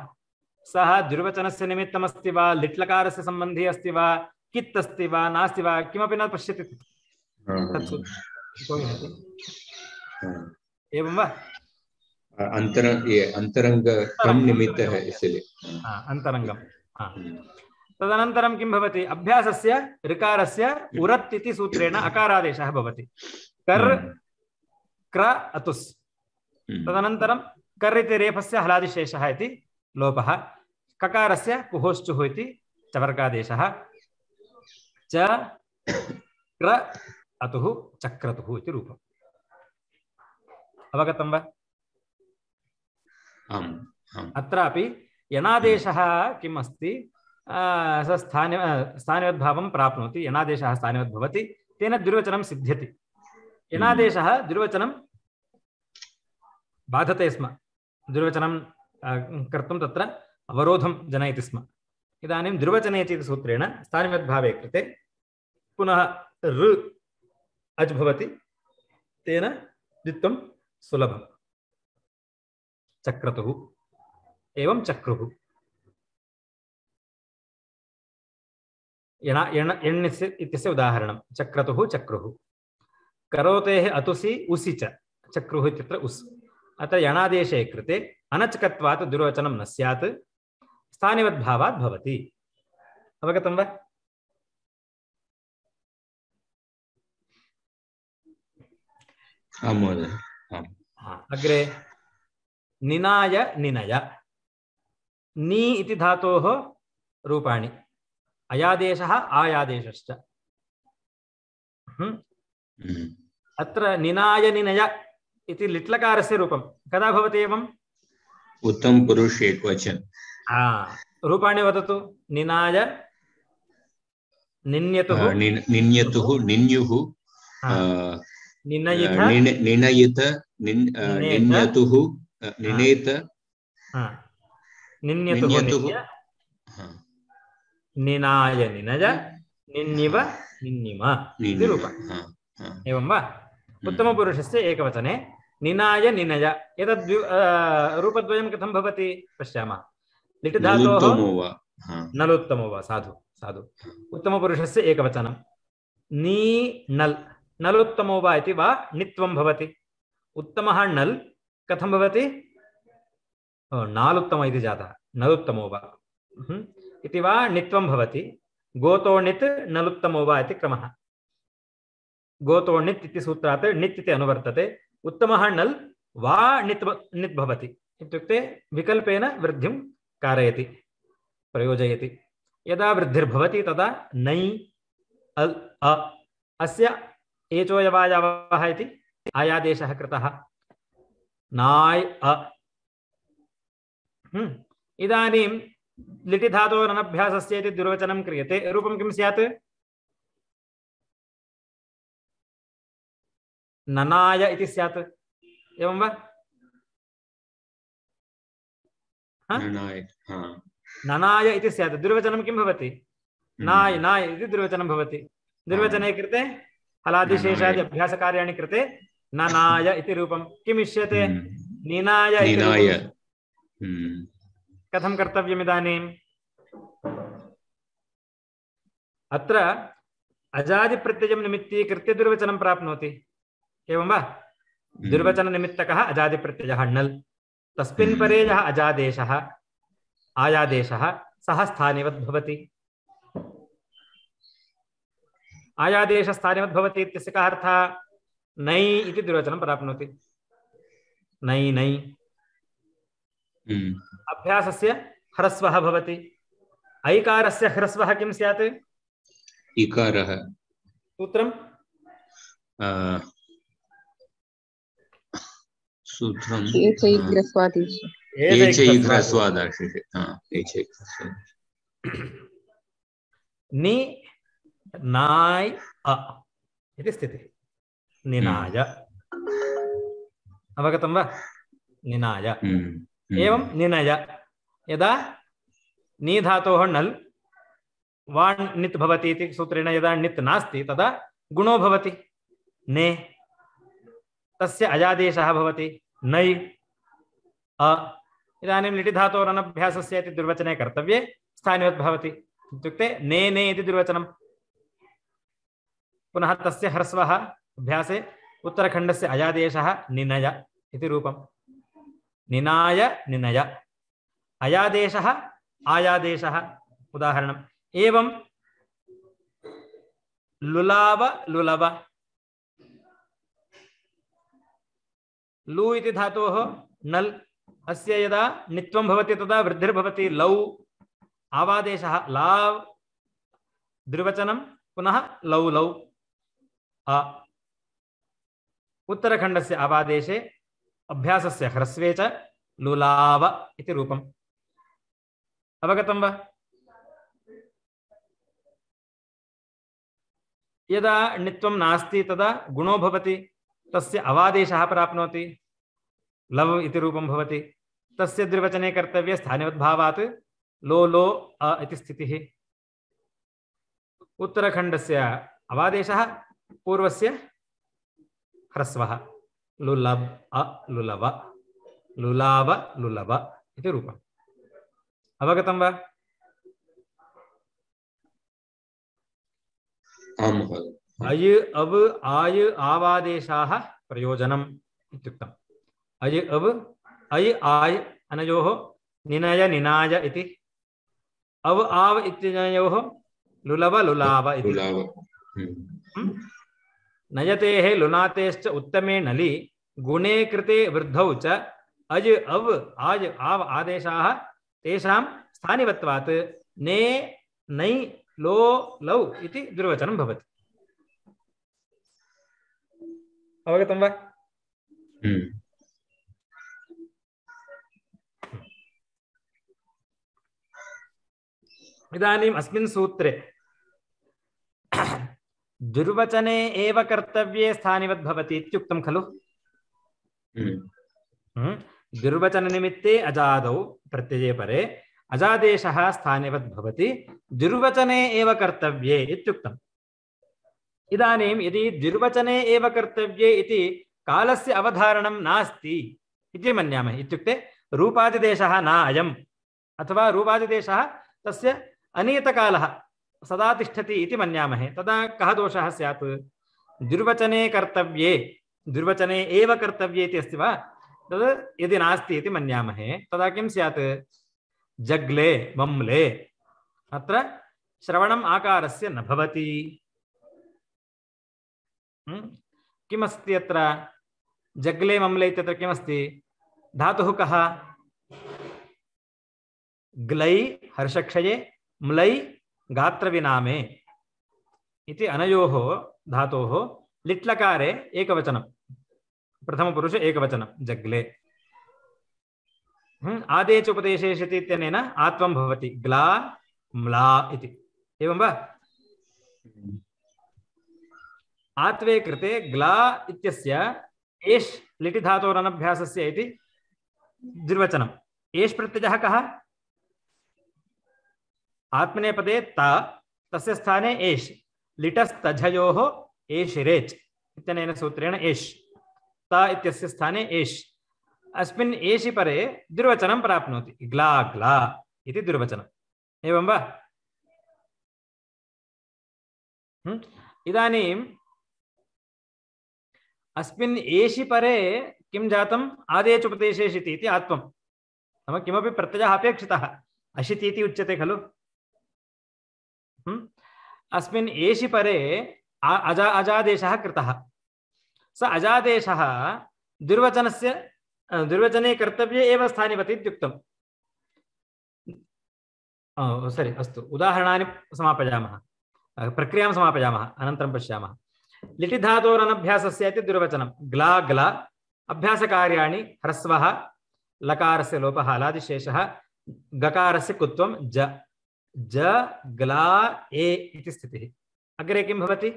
सः दुर्वचनस्य निमित्तमस्ति वा, लिट्लकारस्य सम्बन्धी अस्ति वा, कित् अस्ति वा, नास्ति वा, किमपि न पश्यति। एवं वा? अंतरंग ये अंतरंग कम निमित्त है इसलिए अंतरंगम। तदनन्तरं किं भवति? अभ्यासस्य ऋकारस्य उरत् इति सूत्रेण अकारादेशः भवति। कर् क्र अतुस्। तदनन्तरं कर् इति रेफस्य हलादिशेषः इति लोपः। ककारस्य कुहोश्चुः इति चवर्गादेशः। च क्र अतुः चक्रतुः इति रूपम्। अवगतं वा? आम् आम्। अत्रापि यणादेशः किम् अस्ति? स स्थानि स्थानिवद्भावं प्राप्नोति। यणादेशः स्थानिवद्भवति, तेन दुर्वचनं सिद्ध्यति। यणादेशः दुर्वचनं बाधते स्म, दुर्वचनं कर्तुं तत्र अवरोधं जनयति स्म। इदानीं दुर्वचने इति सूत्रेण स्थानिवद्भावे कृते पुनः ऋ अज् भवति, तेन द्वित्वं सुलभम्। चक्रतुः एवं चक्रुः। यण यण यण्यस्य इत्यस्य उदाहरणं चक्रतुः चक्रुः। करोतेः अतुसि उसि च चक्रुः इत्यत्र उस्। अत्र यणादेशे कृते अनचकत्वात् दुर्वचनं न स्यात्, स्थानिवद्भावात् भवति। अवगतं वा? आं महोदय। अग्रे निनाय निनय। नी इति धातोः रूपाणि अयादेशः आयादेशश्च। अत्र निनाय निनय इति लिट्लकारस्य रूपं कदा भवति एवम्? उत्तम पुरुष एकवचन। रूपाणि वदतु। निनाय निन्यतुः निन्यतुः निन्युः निनयित निनयित निन्यतुः निनेत निन्यतुः निनाय निनय निन्निव निन्निम इति रूपम्। एवं वा? उत्तमपुरुषस्य एकवचने निनाय निनय एतद् रूपद्वयं कथं भवति पश्यामः। लिट् धातोः नलुत्तमो वा नलोत्तमो वा साधु साधु उत्तमपुरुषस्य एकवचनं नी नल् नलोत्तमो वा इति वा नित्वं भवति उत्तमः नल् कथं भवति नालुत्तम इति जातः नलोत्तमो वा इति वा नित्वं भवति गोतो नित् नलुत्तमो वा इति क्रमः गोतो नित् इति सूत्रात् नित् इति अनुवर्तते उत्तमः नल् वा नित् नित् भवति इत्युक्ते विकल्पेन वृद्धिं कारयति प्रयोजयति यदा वृद्धिर्भवति तदा नै अल् अ अस्य एचोयवायावः इति आयादेशः कृतः नाय् अ हम्म इदानीं लिटि धातोरनभ्यासस्य इति दुर्वचनं क्रियते रूपं किं स्यात् ननाय इति स्यात् एवं वा ननाय ननाय इति स्यात् दुर्वचनं किं भवति नाय नाय इति दुर्वचनं भवति दुर्वचने कृते हलादिशेषादि अभ्यासकार्याणि कृते ननाय इति रूपं किम् इष्यते निनाय इति कथं कर्तव्यम् इदानीम् अत्र अजादिप्रत्ययं निमित्तीकृत्य दुर्वचनं प्राप्नोति एवं वा दुर्वचननिमित्तकः अजादिप्रत्ययः णल् तस्मिन् परे यः अजादेशः आयादेशः सः स्थानिवत् भवति आयादेशस्थानिवत् भवति इत्यस्य कः अर्थः नै इति दुर्वचनं प्राप्नोति नै नै अभ्यासस्य ह्रस्वः भवति ऐकारस्य ह्रस्वः किं स्यात् इकारः सूत्रं सूत्रं नि नाय अ इति स्थितिः निनाय अवगतं वा निनाय एवं निनय यदा नी धातोः नल् वाण् नित् भवति इति सूत्रेण यदा नित् नास्ति तदा गुणो भवति ने तस्य अजादेशः भवति नै अ इदानीं लिटि धातोरनभ्यासस्य इति दुर्वचने कर्तव्ये स्थानिवत् भवति इत्युक्ते ने ने इति दुर्वचनं पुनः तस्य ह्रस्वः अभ्यासे उत्तरखण्डस्य अजादेशः निनय इति रूपम् निनाय निनय अयादेशः आयादेशः उदाहरणम् एवं लुलाव लुलव लु इति धातोः नल् अस्य यदा नित्वं भवति तदा वृद्धिर्भवति लौ आवादेशः लाव् द्विवचनं पुनः लौ लौ अ उत्तरखण्डस्य आवादेशे अभ्यासस्य ह्रस्वे च लुलाव इति रूपम् अवगतं वा यदा नित्वं नास्ति तदा गुणो भवति तस्य अवादेशः प्राप्नोति लव इति रूपं भवति तस्य द्विवचने कर्तव्ये स्थानिवद्भावात् लो लो अ इति स्थितिः उत्तरखण्डस्य अवादेशः पूर्वस्य ह्रस्वः लुलभ अ लुलव लुलाव लुलव इति रूपम् अवगतं वा अय अव आय आवादेशाः प्रयोजनम् इत्युक्तम् अय अव अय आय अनयोः निनय निनाय इति अव आव इत्यनयोः लुलव लुलाव इति नयतेः लुनातेश्च उत्तमे नलि गुणे कृते वृद्धौ च अज अव आज आव आदेशाः तेषां स्थानिवत्वात् ने नै लो लौ इति दुर्वचनं भवति अवगतं वा इदानीम् अस्मिन् सूत्रे दुर्वचने एव कर्तव्ये स्थानिवत् भवति इत्युक्तं खलु दुर्वचननिमित्ते अजादौ प्रत्यये परे अजादेशः स्थानिवत् भवति दुर्वचने एव कर्तव्ये इत्युक्तम् इदानीं यदि दुर्वचने एव कर्तव्ये इति कालस्य अवधारणं नास्ति इति मन्यामहे इत्युक्ते रूपादिदेशः न अयम् अथवा रूपादिदेशः तस्य अनियतकालः सदा तिष्ठति इति मन्यामहे तदा कः दोषः स्यात् दुर्वचने कर्तव्ये दुर्वचने एव कर्तव्ये इति अस्ति वा तद् यदि नास्ति इति मन्यामहे तदा किं स्यात् जग्ले मम्ले अत्र श्रवणम् आकारस्य न भवति किमस्ति अत्र जग्ले मम्ले इत्यत्र किमस्ति धातुः कः ग्लै हर्षक्षये म्लै गात्रविनामे इति अनयोः धातोः लिट्लकारे एकवचनं प्रथमपुरुष एकवचनं जग्ले आदेच उपदेशेषति इत्यनेन आत्वं भवति ग्ला म्ला इति एवं वा आत्वे कृते ग्ला इत्यस्य एष् लिटि धातोरनभ्यासस्य इति द्विर्वचनम् एष् प्रत्ययः कः आत्मनेपदे ता तस्य स्थाने एष् लिटस्तझयोः एष् रेच् इत्यनेन सूत्रेण एष् ता इत्यस्य स्थाने एष् अस्मिन् एषि परे द्विर्वचनं प्राप्नोति ग्ला ग्ला इति द्विर्वचनम् एवं वा इदानीम् अस्मिन् एषि परे किं जातम् आदेच उपदेशेषिति इति आत्वं नाम किमपि प्रत्ययः अपेक्षितः अशिति इति उच्यते खलु अस्मिन् एषि परे अजा अजादेशः कृतः स अजादेशः दुर्वचनस्य दुर्वचने कर्तव्ये एव स्थानिवति इत्युक्तम् सरि अस्तु उदाहरणानि समापयामः प्रक्रियां समापयामः अनन्तरं पश्यामः लिटि धातोरनभ्यासस्य इति दुर्वचनं ग्ला ग्ला अभ्यासकार्याणि ह्रस्वः लकारस्य लोपः हलादिशेषः गकारस्य कुत्वं ज ज ग्ला ए इति स्थितिः अग्रे किं भवति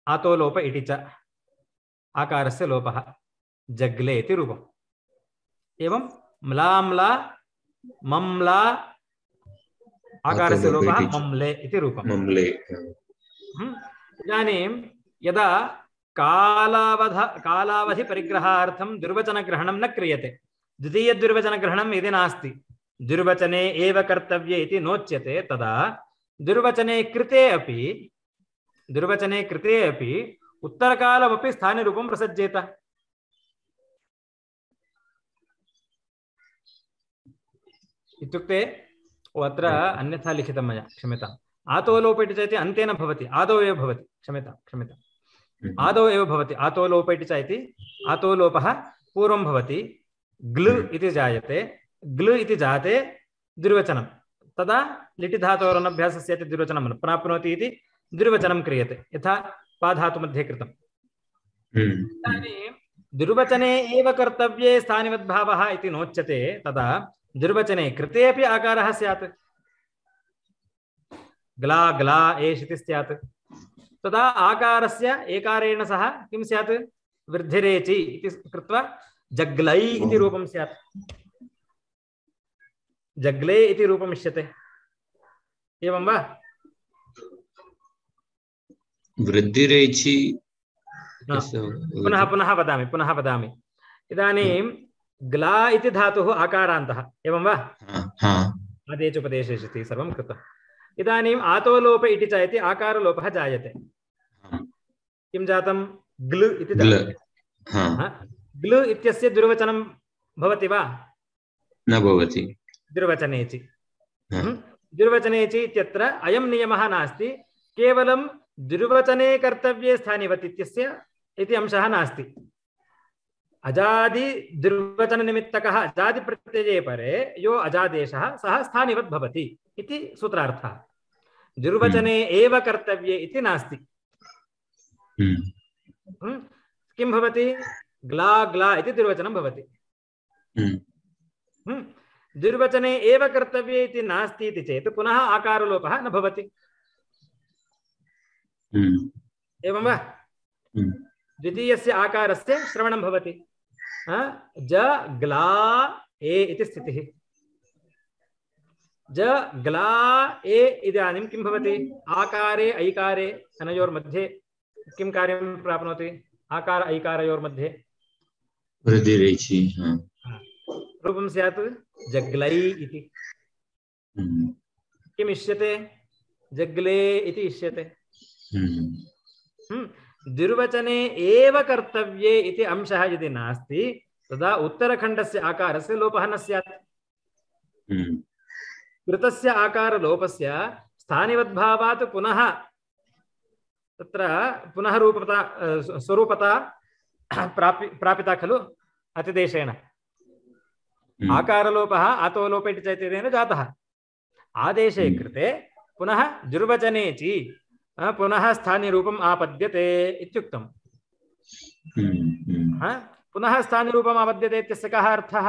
आतो लोप इति च आकारस्य लोपः जग्ले इति रूपम् एवं म्लाम्ला मम्ला आकारस्य लोपः मम्ले इति रूपम् मम्ले इदानीं यदा कालावध कालावधि परिग्रहार्थं दुर्वचनग्रहणं न क्रियते द्वितीयदुर्वचनग्रहणं यदि नास्ति दुर्वचने एव कर्तव्ये इति नोच्यते तदा दुर्वचने कृते अपि दुर्वचने कृते अपि उत्तरकालमपि स्थानिरूपं प्रसज्येत इत्युक्ते अत्र अन्यथा लिखितं मया क्षम्यताम् आतो लोप इति च इति अन्ते न भवति आदौ एव भवति क्षम्यतां क्षम्यताम् आदौ एव भवति आतो लोप इति च इति आतो लोपः पूर्वं भवति ग्लु इति जायते ग्लु इति जाते द्विर्वचनं तदा लिटि धातोरनभ्यासस्य इति द्विर्वचनं प्राप्नोति इति द्विर्वचनं क्रियते यथा पाधातुमध्ये कृतम् इदानीं दुर्वचने एव कर्तव्ये स्थानिवद्भावः इति नोच्यते तदा दुर्वचने कृते अपि आकारः स्यात् ग्ला ग्ला एष् इति स्यात् तदा आकारस्य एकारेण सह किं स्यात् वृद्धिरेचि इति कृत्वा जग्लै इति रूपं स्यात् जग्ले इति रूपम् इष्यते एवं वा वृद्धिरेचि पुनः पुनः वदामि पुनः वदामि इदानीं ग्ला इति धातुः आकारान्तः एवं वा आदेच उपदेशेषति सर्वं कृतम् इदानीम् आतो लोप इति च इति आकारलोपः जायते किं जातं ग्लु इति जायते ग्लु इत्यस्य दुर्वचनं भवति वा न भवति दुर्वचनेचि दुर्वचनेचि इत्यत्र अयं नियमः नास्ति केवलं दुर्वचने कर्तव्ये स्थानिवत् इत्यस्य इति अंशः नास्ति अजादि दुर्वचन निमित्तकः अजादि प्रत्यये परे यो अजादेशः सः स्थानिवत् भवति इति सूत्रार्थः दुर्वचने एव कर्तव्ये इति नास्ति किं भवति ग्ला ग्ला इति दुर्वचनं भवति दुर्वचने एव कर्तव्ये इति नास्ति इति चेत् पुनः आकारलोपः न भवति एवं वा द्वितीयस्य आकारस्य श्रवणं भवति ज ग्ला ए इति स्थितिः ज ग्ला ए इदानीं किं भवति आकारे ऐकारे अनयोर्मध्ये किं कार्यं प्राप्नोति आकार ऐकारयोर्मध्ये वृद्धिरेचि रूपं स्यात् जग्लै इति। किम् इष्यते? जग्ले इति इष्यते। द्विर्वचने एव कर्तव्ये इति अंशः यदि नास्ति तदा उत्तरखण्डस्य आकारस्य लोपः न स्यात्। कृतस्य आकारलोपस्य स्थानिवद्भावात् पुनः तत्र पुनः रूपता स्वरूपता प्रापि प्रापिता खलु अतिदेशेन। आकारलोपः आतोलोप इति चैतन्येन जातः। आदेशे कृते पुनः द्विर्वचने ची पुनः स्थानीयरूपम् आपद्यते इत्युक्तम्। पुनः स्थानीयरूपम् आपद्यते इत्यस्य कः अर्थः?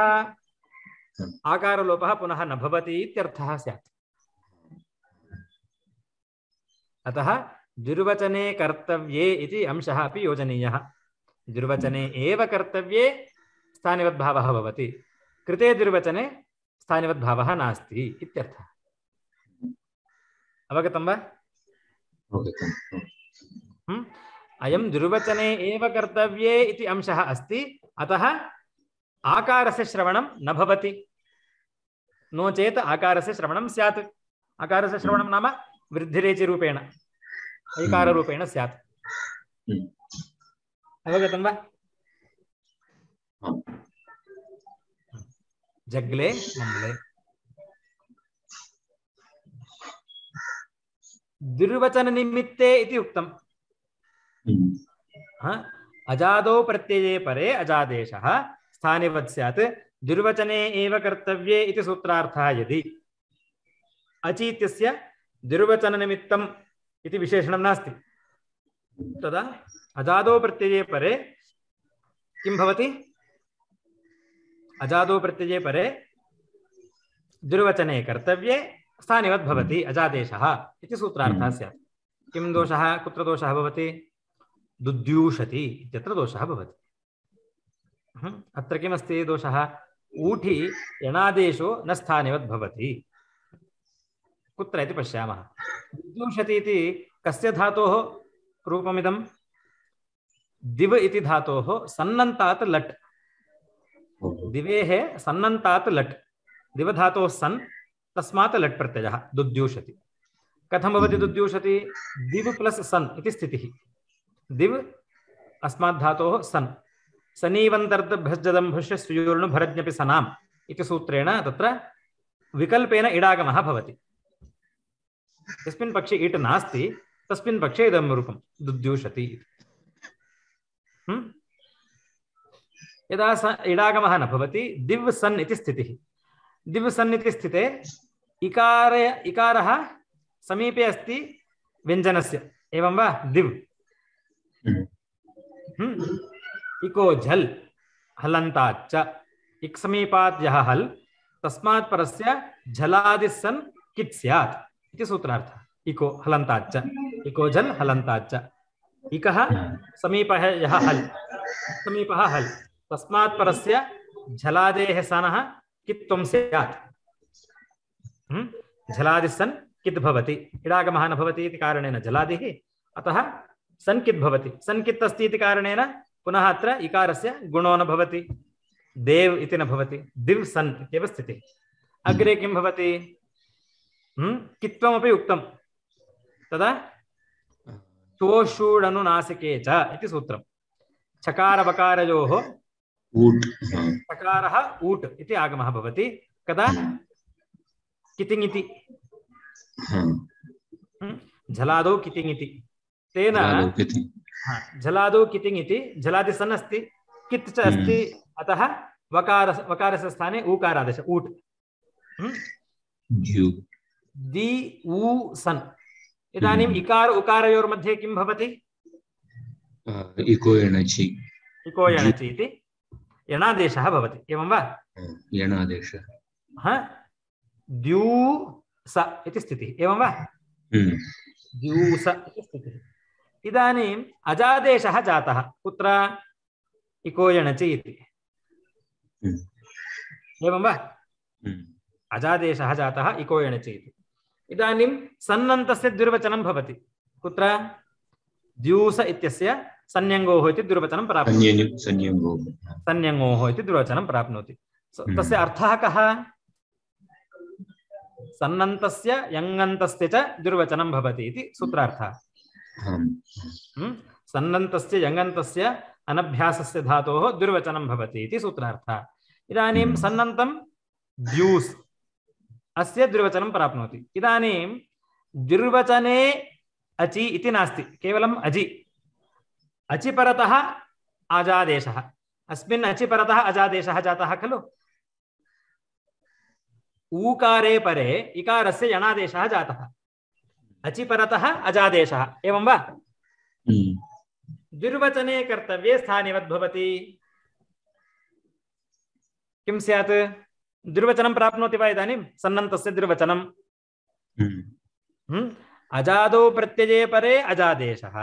आकारलोपः पुनः न भवति इत्यर्थः स्यात्। अतः द्विर्वचने कर्तव्ये इति अंशः अपि योजनीयः। द्विर्वचने एव कर्तव्ये स्थानिवद्भावः भवति, कृते द्विर्वचने स्थानिवद्भावः नास्ति इत्यर्थः। अवगतं वा? अयं द्विर्वचने एव कर्तव्ये इति अंशः अस्ति, अतः आकारस्य श्रवणं न भवति। नो चेत् आकारस्य श्रवणं स्यात्। आकारस्य श्रवणं नाम वृद्धिरेचिरूपेण ऐकाररूपेण स्यात्। अवगतं वा? जग्ले मम्ले द्विर्वचन निमित्ते इति उक्तम्। अजादौ प्रत्यये परे अजादेशः स्थानिवत् स्यात् द्विर्वचने एव कर्तव्ये इति सूत्रार्थः। यदि अचीत्यस्य द्विर्वचन निमित्तम् इति विशेषणं नास्ति तदा अजादौ प्रत्यये परे किं भवति? अजादौ प्रत्यये परे द्विर्वचने कर्तव्ये स्थानिवत् भवति अजादेशः इति सूत्रार्थः स्यात्। किं दोषः? कुत्र दोषः भवति? दुद्यूषति इत्यत्र दोषः भवति। अत्र किमस्ति दोषः? ऊठि यणादेशो न स्थानिवत् भवति। कुत्र इति पश्यामः। दुद्यूषति इति कस्य धातोः रूपमिदं? दिव इति धातोः सन्नन्तात् लट्। दिवेः सन्नन्तात् लट्, दिवधातोः सन्, तस्मात् लट् प्रत्ययः दुद्यूषति। कथं भवति दुद्यूषति? दिव प्लस सन् इति स्थितिः। दिव अस्मात् धातोः सन्, सनीवन्तर्दभ्यजदम्भुष्य स्यूर्णुभरज्ञपि सनाम् इति सूत्रेण तत्र विकल्पेन इडागमः भवति। यस्मिन् पक्षे इट् नास्ति तस्मिन् पक्षे इदं रूपं दुद्यूषति। यदा स इडागमः न भवति दिव् सन् इति स्थितिः। दिव् सन् इति स्थिते इकार इकारः समीपे अस्ति व्यञ्जनस्य, एवं वा? दिव् इको झल् हलन्ताच्च, इक् समीपात् यः हल् तस्मात् परस्य झलादिः सन् कित् स्यात् इति सूत्रार्थः। इको हलन्ताच्च, इको झल् हलन्ताच्च। इकः समीपः यः हल्, समीपः हल्, तस्मात् परस्य झलादेः सनः कित्त्वं स्यात्। झलादिः सन् कित् भवति, इडागमः न भवति इति कारणेन झलादिः, अतः सन् कित् भवति। सन् कित् अस्ति इति कारणेन पुनः अत्र इकारस्य गुणो न भवति, देव इति न भवति, दिव् सन् इत्येव स्थितिः। अग्रे किं भवति? कित्त्वमपि उक्तं, तदा तोषूडनुनासिके च इति सूत्रम्। चकारवकारयोः चकारः ऊट् इति आगमः भवति। कदा? कितिङ् इति, झलादौ कितिङ् इति। तेन झलादौ कितिङ् इति, झलादि सन् अस्ति, कित् च अस्ति, अतः वकार वकारस्य स्थाने ऊकारादेश ऊट्। दि ऊ सन्। इदानीम् इकार उकारयोर्मध्ये किं भवति? इको एणचि, इको एणचि इति यणादेशः भवति, एवं वा? यणादेशः द्यूस इति स्थितिः, एवं वा? द्यूस इति स्थितिः। इदानीम् अजादेशः जातः, कुत्र? इको एणचि इति, एवं वा? अजादेशः जातः इको एणचि इति। इदानीं सन्नन्तस्य द्विर्वचनं भवति, कुत्र? द्यूस इत्यस्य संज्ञङ्गोः इति द्विर्वचनं प्राप्नोति। संज्ञङ्गोः इति द्विर्वचनं प्राप्नोति। तस्य अर्थः कः? सन्नन्तस्य यङन्तस्य च दुर्वचनं भवति इति सूत्रार्थः। सन्नन्तस्य यङन्तस्य अनभ्यासस्य धातोः दुर्वचनं भवति इति सूत्रार्थः। इदानीं सन्नन्तं द्यूस् अस्य दुर्वचनं प्राप्नोति। इदानीं दुर्वचने अचि इति नास्ति, केवलम् अजि। अचि परतः अजादेशः, अस्मिन् अचि परतः अजादेशः जातः खलु। ऊकारे परे इकारस्य यणादेशः जातः, अचि परतः अजादेशः, एवं वा? दुर्वचने कर्तव्ये स्थानिवत् भवति। किं स्यात्? दुर्वचनं प्राप्नोति वा इदानीं? सन्नन्तस्य दुर्वचनं। अजादौ प्रत्यये परे अजादेशः,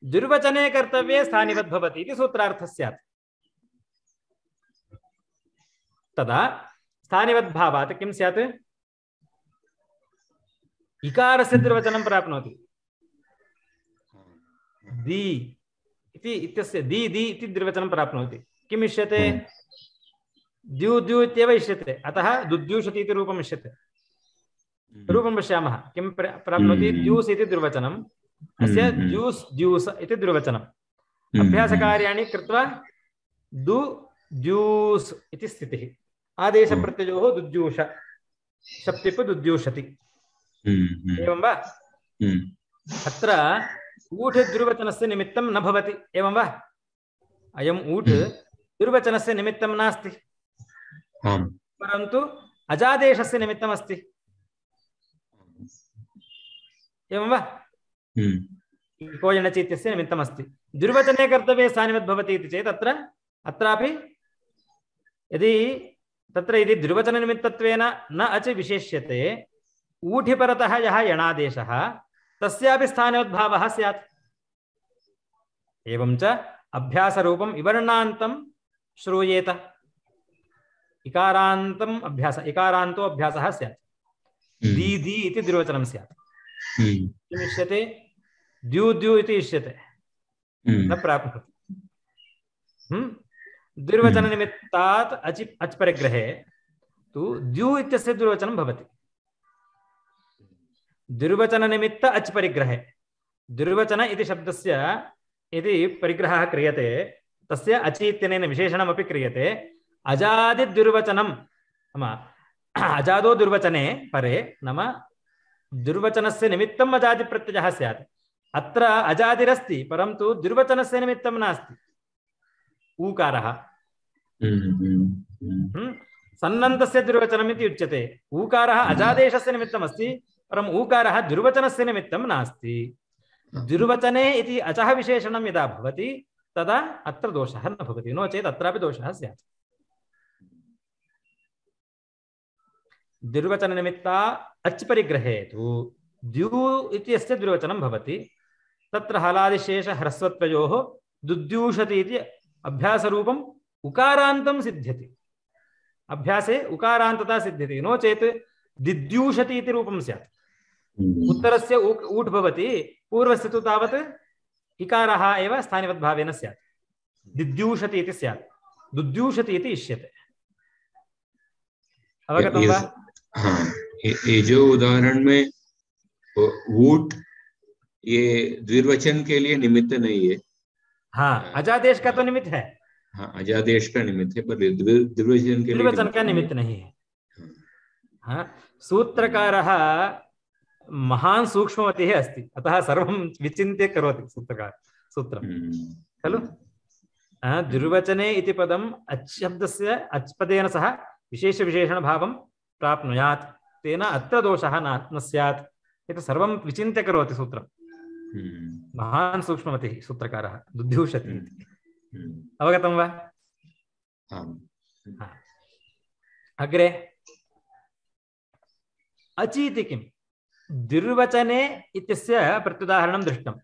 दुर्वचने कर्तव्ये स्थानिवत् भवति इति सूत्रार्थः स्यात्। तदा स्थानिवत् भावात् किं स्यात्? इकारस्य दुर्वचनं प्राप्नोति। दी इति इत्यस्य दी दी इति दुर्वचनं प्राप्नोति। किम् इष्यते? द्यू द्यू इत्येव इष्यते, अतः दुद्यूषति इति रूपम् इष्यते। रूपं पश्यामः। किं प्राप्नोति? द्यूस् इति दुर्वचनम्, अस्य द्यूस् द्यूस् इति दुर्वचनम्। अभ्यासकार्याणि कृत्वा दु द्यूस् इति स्थितिः। आदेशप्रत्ययोः दुद्यूष, शप्तिप् दुद्यूषति, एवं वा? अत्र ऊठ् दुर्वचनस्य निमित्तं न भवति, एवं वा? अयम् ऊठ् दुर्वचनस्य निमित्तं नास्ति, परन्तु अजादेशस्य निमित्तम् अस्ति, एवं वा? इको यणचि इत्यस्य निमित्तम् अस्ति। दुर्वचने कर्तव्ये स्थानिवत् भवति इति चेत् अत्र अत्रापि यदि तत्र यदि दुर्वचननिमित्तत्वेन न अच विशेष्यते, ऊठि परतः यः यणादेशः तस्यापि स्थानोद्भावः स्यात्। एवं च अभ्यासरूपम् इवर्णान्तं श्रूयेत। इकारान्तम् अभ्यास, इकारान्तो अभ्यासः स्यात्। दी दी इति दुर्वचनं स्यात्। किम् इष्यते? द्यू द्यू इति इष्यते, न प्राप्नोति। दुर्वचननिमित्तात् अचि अच् परिग्रहे तु द्यू इत्यस्य दुर्वचनं भवति। दुर्वचननिमित्त अच् परिग्रहे दुर्वचन इति शब्दस्य यदि परिग्रहः क्रियते, तस्य अचि इत्यनेन विशेषणमपि क्रियते। अजादिदुर्वचनं नाम अजादो दुर्वचने परे नाम दुर्वचनस्य निमित्तम् अजादिप्रत्ययः स्यात्। अत्र अजादिरस्ति, परन्तु दुर्वचनस्य निमित्तं नास्ति, ऊकारः। सन्नन्तस्य दुर्वचनम् इति उच्यते। ऊकारः अजादेशस्य निमित्तम् अस्ति, परम् ऊकारः दुर्वचनस्य निमित्तं नास्ति। दुर्वचने इति अचः विशेषणं यदा भवति तदा अत्र दोषः न भवति, नो चेत् अत्रापि दोषः स्यात्। दुर्वचननिमित्ता अच् परिग्रहे तु द्यू इत्यस्य दुर्वचनं भवति। तत्र हलादिशेष ह्रस्वत्वयोः दुद्यूषति इति अभ्यासरूपम् उकारान्तं सिद्ध्यति। अभ्यासे उकारान्तता सिद्ध्यति, नो चेत् दिद्यूषति इति रूपं स्यात्। उत्तरस्य ऊट् भवति, पूर्वस्य तु तावत् इकारः एव स्थानिवद्भावेन स्यात्। दिद्यूषति इति स्यात्, दुद्यूषति इति इष्यते। अवगतं वा? हाँ, ये जो उदाहरण में ऊट ये द्विवचन के लिए निमित्त नहीं है। हाँ, अजादेश का तो निमित्त है। हाँ, अजादेश का निमित्त है, पर द्विवचन के द्विवचन का निमित्त नहीं है। हाँ, सूत्रकारः महान् सूक्ष्ममतिः अस्ति, अतः सर्वं विचिन्त्य करोति सूत्रकार सूत्रं खलु। दुर्वचने इति पदम् अच् शब्दस्य अच् पदेन सह विशेषविशेषणभावं प्राप्नुयात्, तेन अत्र दोषः न स्यात्। एतत् सर्वं विचिन्त्य करोति सूत्रं। महान् सूक्ष्ममतिः सूत्रकारः, दुद्यूषति इति। अवगतं वा? अग्रे अचीति किम्? दुर्वचने इत्यस्य प्रत्युदाहरणं दृष्टं।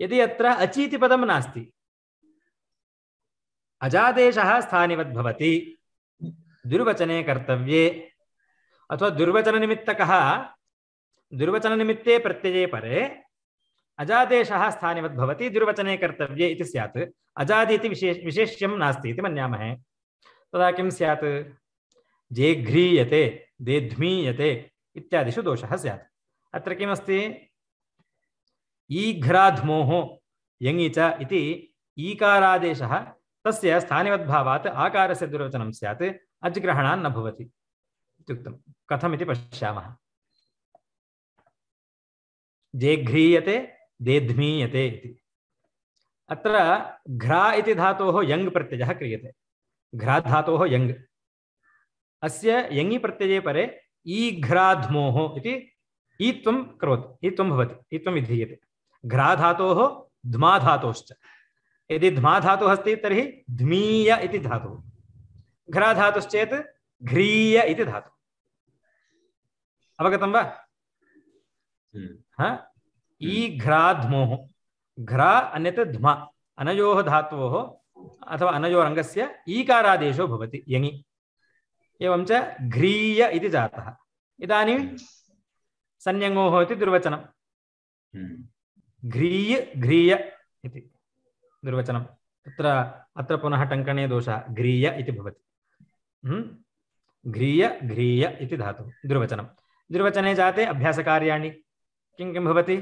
यदि अत्र अचीति पदं नास्ति, अजादेशः स्थानिवद् भवति, दुर्वचने कर्तव्ये अथवा दुर्वचननिमित्तकः दुर्वचननिमित्ते प्रत्यये परे अजादेशः स्थानिवद् भवति, दुर्वचने कर्तव्ये इति स्यात्। अजादि इति विशेष विशेष्यं नास्ति इति मन्यामहे। तदा किं स्यात्? जेघ्रीयते, देध्मीयते इत्यादिषु दोषः स्यात्। अत्र किमस्ति? ईघ्राध्मोः यङि च इति ईकारादेशः तस्य स्थानिवद्भावात् आकारस्य दुर्वचनं स्यात्, अज्ग्रहणान् न भवति इत्युक्तं। कथमिति पश्यामः। जेघ्रीयते, देध्मीयते इति। अत्र घ्रा इति धातोः यङ् प्रत्ययः क्रियते। घ्रा धातोः यङ्, अस्य यङि प्रत्यये परे ईघ्राध्मोः इति ईत्वं करोति, ईत्वं भवति, ईत्वं विधीयते। घ्रा धातोः ध्मा धातोश्च। यदि ध्मा धातुः अस्ति तर्हि ध्मीय इति धातुः, घ्रा धातुश्चेत् घ्रीय इति धातुः। अवगतं वा? हा, ईघ्राध्मोः, घ्रा अन्यत् ध्मा, अनयोः धातोः अथवा अनयोरङ्गस्य ईकारादेशो भवति यङि। एवं च घ्रीय इति जातः। इदानीं संज्ञङोः इति दुर्वचनं। घ्रीय घ्रीय इति दुर्वचनं। तत्र अत्र पुनः टङ्कणे दोषः, घ्रीय इति भवति। घ्रीय घ्रीय इति धातुः दुर्वचनं। दुर्वचने जाते अभ्यासकार्याणि किं किं भवति?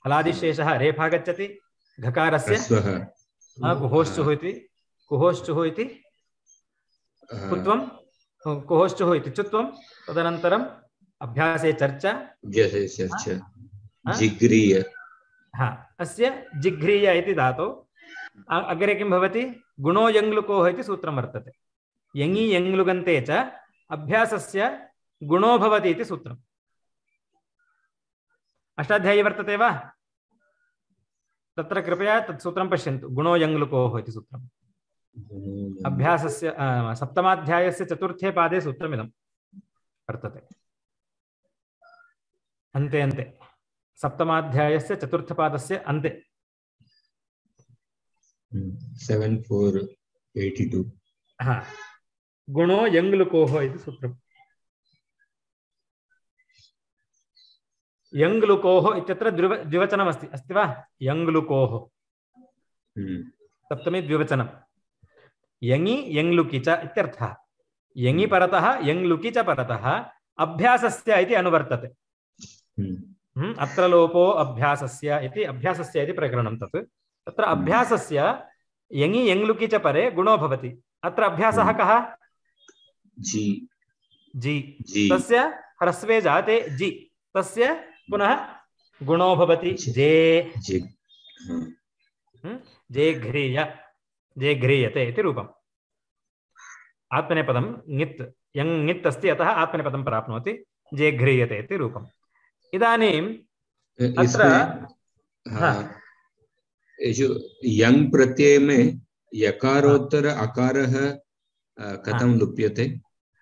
हलादिशेषः रेफा गच्छति, घकारस्य कुहोश्चुः इति, कुहोश्चुः इति कुत्वं, कुहोश्चुः इति चुत्वं, तदनन्तरम् अभ्यासे चर्चा, जिघ्रीय। हा, अस्य जिघ्रीय इति धातौ अग्रे किं भवति? गुणो यङ्लुकोः इति सूत्रं वर्तते। यङि यङ्लुगन्ते च अभ्यासस्य गुणो भवति इति सूत्रम्। अष्टाध्यायी वर्तते वा? तत्र कृपया तत् सूत्रं पश्यन्तु। गुणो यङ्लुकोः इति सूत्रम् अभ्यासस्य सप्तमाध्यायस्य चतुर्थे पादे सूत्रमिदं वर्तते। अन्ते अन्ते सप्तमाध्यायस्य चतुर्थपादस्य अन्ते सेवन फोर एटी टू। हा, गुणो यङ्लुकोः इति सूत्रम्। यङ्लुकोः इत्यत्र द्विव द्विवचनमस्ति, अस्ति वा? यङ्लुकोः सप्तमी द्विवचनं। यङि यङ्लुकि च इत्यर्थः। यङि परतः यङ्लुकि च परतः अभ्यासस्य इति अनुवर्तते। अत्र लोपो अभ्यासस्य इति, अभ्यासस्य इति प्रकरणं तत्। तत्र अभ्यासस्य यङि यङ्लुकि च परे गुणो भवति। अत्र अभ्यासः कः? जी जी, तस्य ह्रस्वे जाते जी, तस्य पुनः गुणो भवति जे। जे घ्रीय, जे घ्रीयते इति रूपम्। आत्मनेपदं ङित्, यङ् ङित् अस्ति, अतः आत्मनेपदं प्राप्नोति, जे घ्रीयते इति रूपम्। इदानीम् अत्र यङ् प्रत्यय में यकारोत्तर अकारः कथं लुप्यते?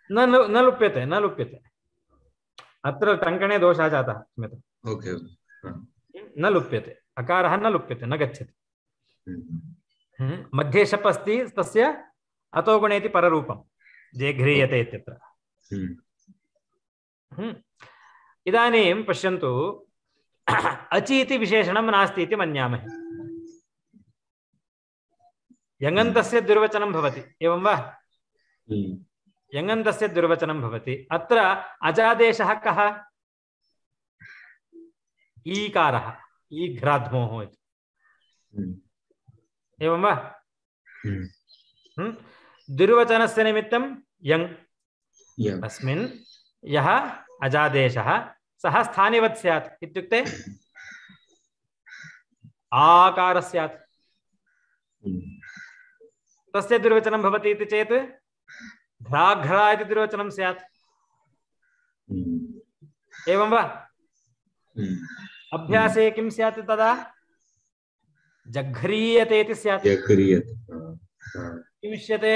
न न लुप्यते, न लुप्यते। अत्र टङ्कणे दोषः जातः। ओके, न लुप्यते, अकारः न लुप्यते, न गच्छति। मध्ये शप् अस्ति, तस्य अतो गुणे इति पररूपं, जे घ्रीयते इत्यत्र। इदानीं पश्यन्तु, अचि इति विशेषणं नास्ति इति मन्यामहे। यङन्तस्य दुर्वचनं भवति, एवं वा? यङन्तस्य दुर्वचनं भवति। अत्र अजादेशः कः? ईकारः, ईघ्राध्मोः इति, एवं वा? दुर्वचनस्य निमित्तं यङ्, तस्मिन् यः अजादेशः सः स्थानिवत् स्यात्, इत्युक्ते आकार स्यात्। तस्य दुर्वचनं भवति इति चेत् घ्राघ्रा इति दुर्वचनं स्यात्, एवं वा? अभ्यासे किं स्यात् तदा? जघ्रीयते इति स्यात्। किम् इष्यते?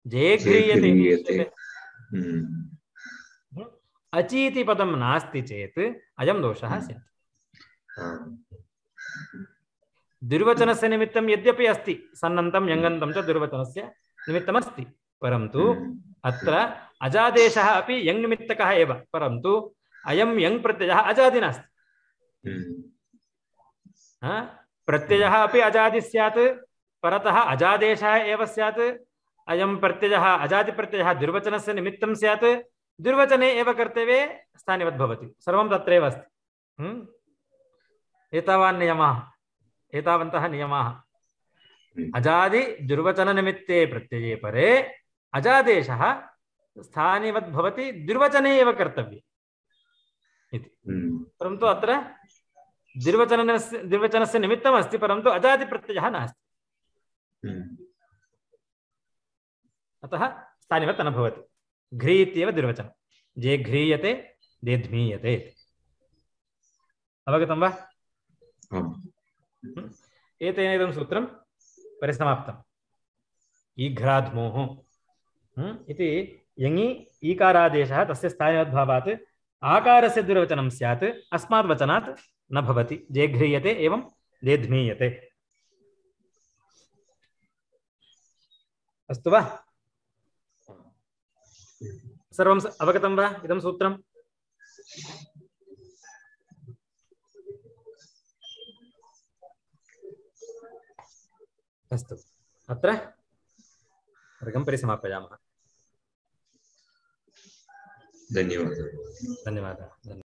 जेघ्रीयते। अचीति पदं नास्ति चेत् अयं दोषः स्यात्। दुर्वचनस्य निमित्तं यद्यपि अस्ति, सन्नन्तं यङन्तं च दुर्वचनस्य निमित्तमस्ति, परन्तु अत्र अजादेशः अपि यङ् निमित्तकः एव, परन्तु अयं यङ् प्रत्ययः अजादि नास्ति। प्रत्ययः अपि अजादि स्यात्, परतः अजादेशः एव स्यात् अयं प्रत्ययः अजादिप्रत्ययः द्विर्वचनस्य निमित्तं स्यात् द्विर्वचने एव कर्तव्ये स्थानिवत् भवति सर्वं तत्रैव अस्ति एतावान् नियमाः एतावन्तः नियमाः अजादि द्विर्वचननिमित्ते प्रत्यये परे अजादेशः स्थानिवत् भवति द्विर्वचने एव कर्तव्ये इति परन्तु अत्र द्विर्वचनस्य द्विर्वचनस्य निमित्तम् अस्ति परन्तु अजादिप्रत्ययः नास्ति अतः स्थानिवत् न भवति घ्री इत्येव द्विर्वचनं जे घ्रीयते दे ध्मीयते अवगतं वा एतेन इदं सूत्रं परिसमाप्तम् ईघ्राध्मोः इति यङि ईकारादेशः तस्य स्थानिवद्भावात् आकारस्य द्विर्वचनं स्यात् अस्मात् वचनात् न भवति जे घ्रीयते एवं दे ध्मीयते अस्तु वा सर्वं अवगतं वा इदं सूत्रम् अस्तु अत्र वर्गं परिसमापयामः धन्यवादः धन्यवादः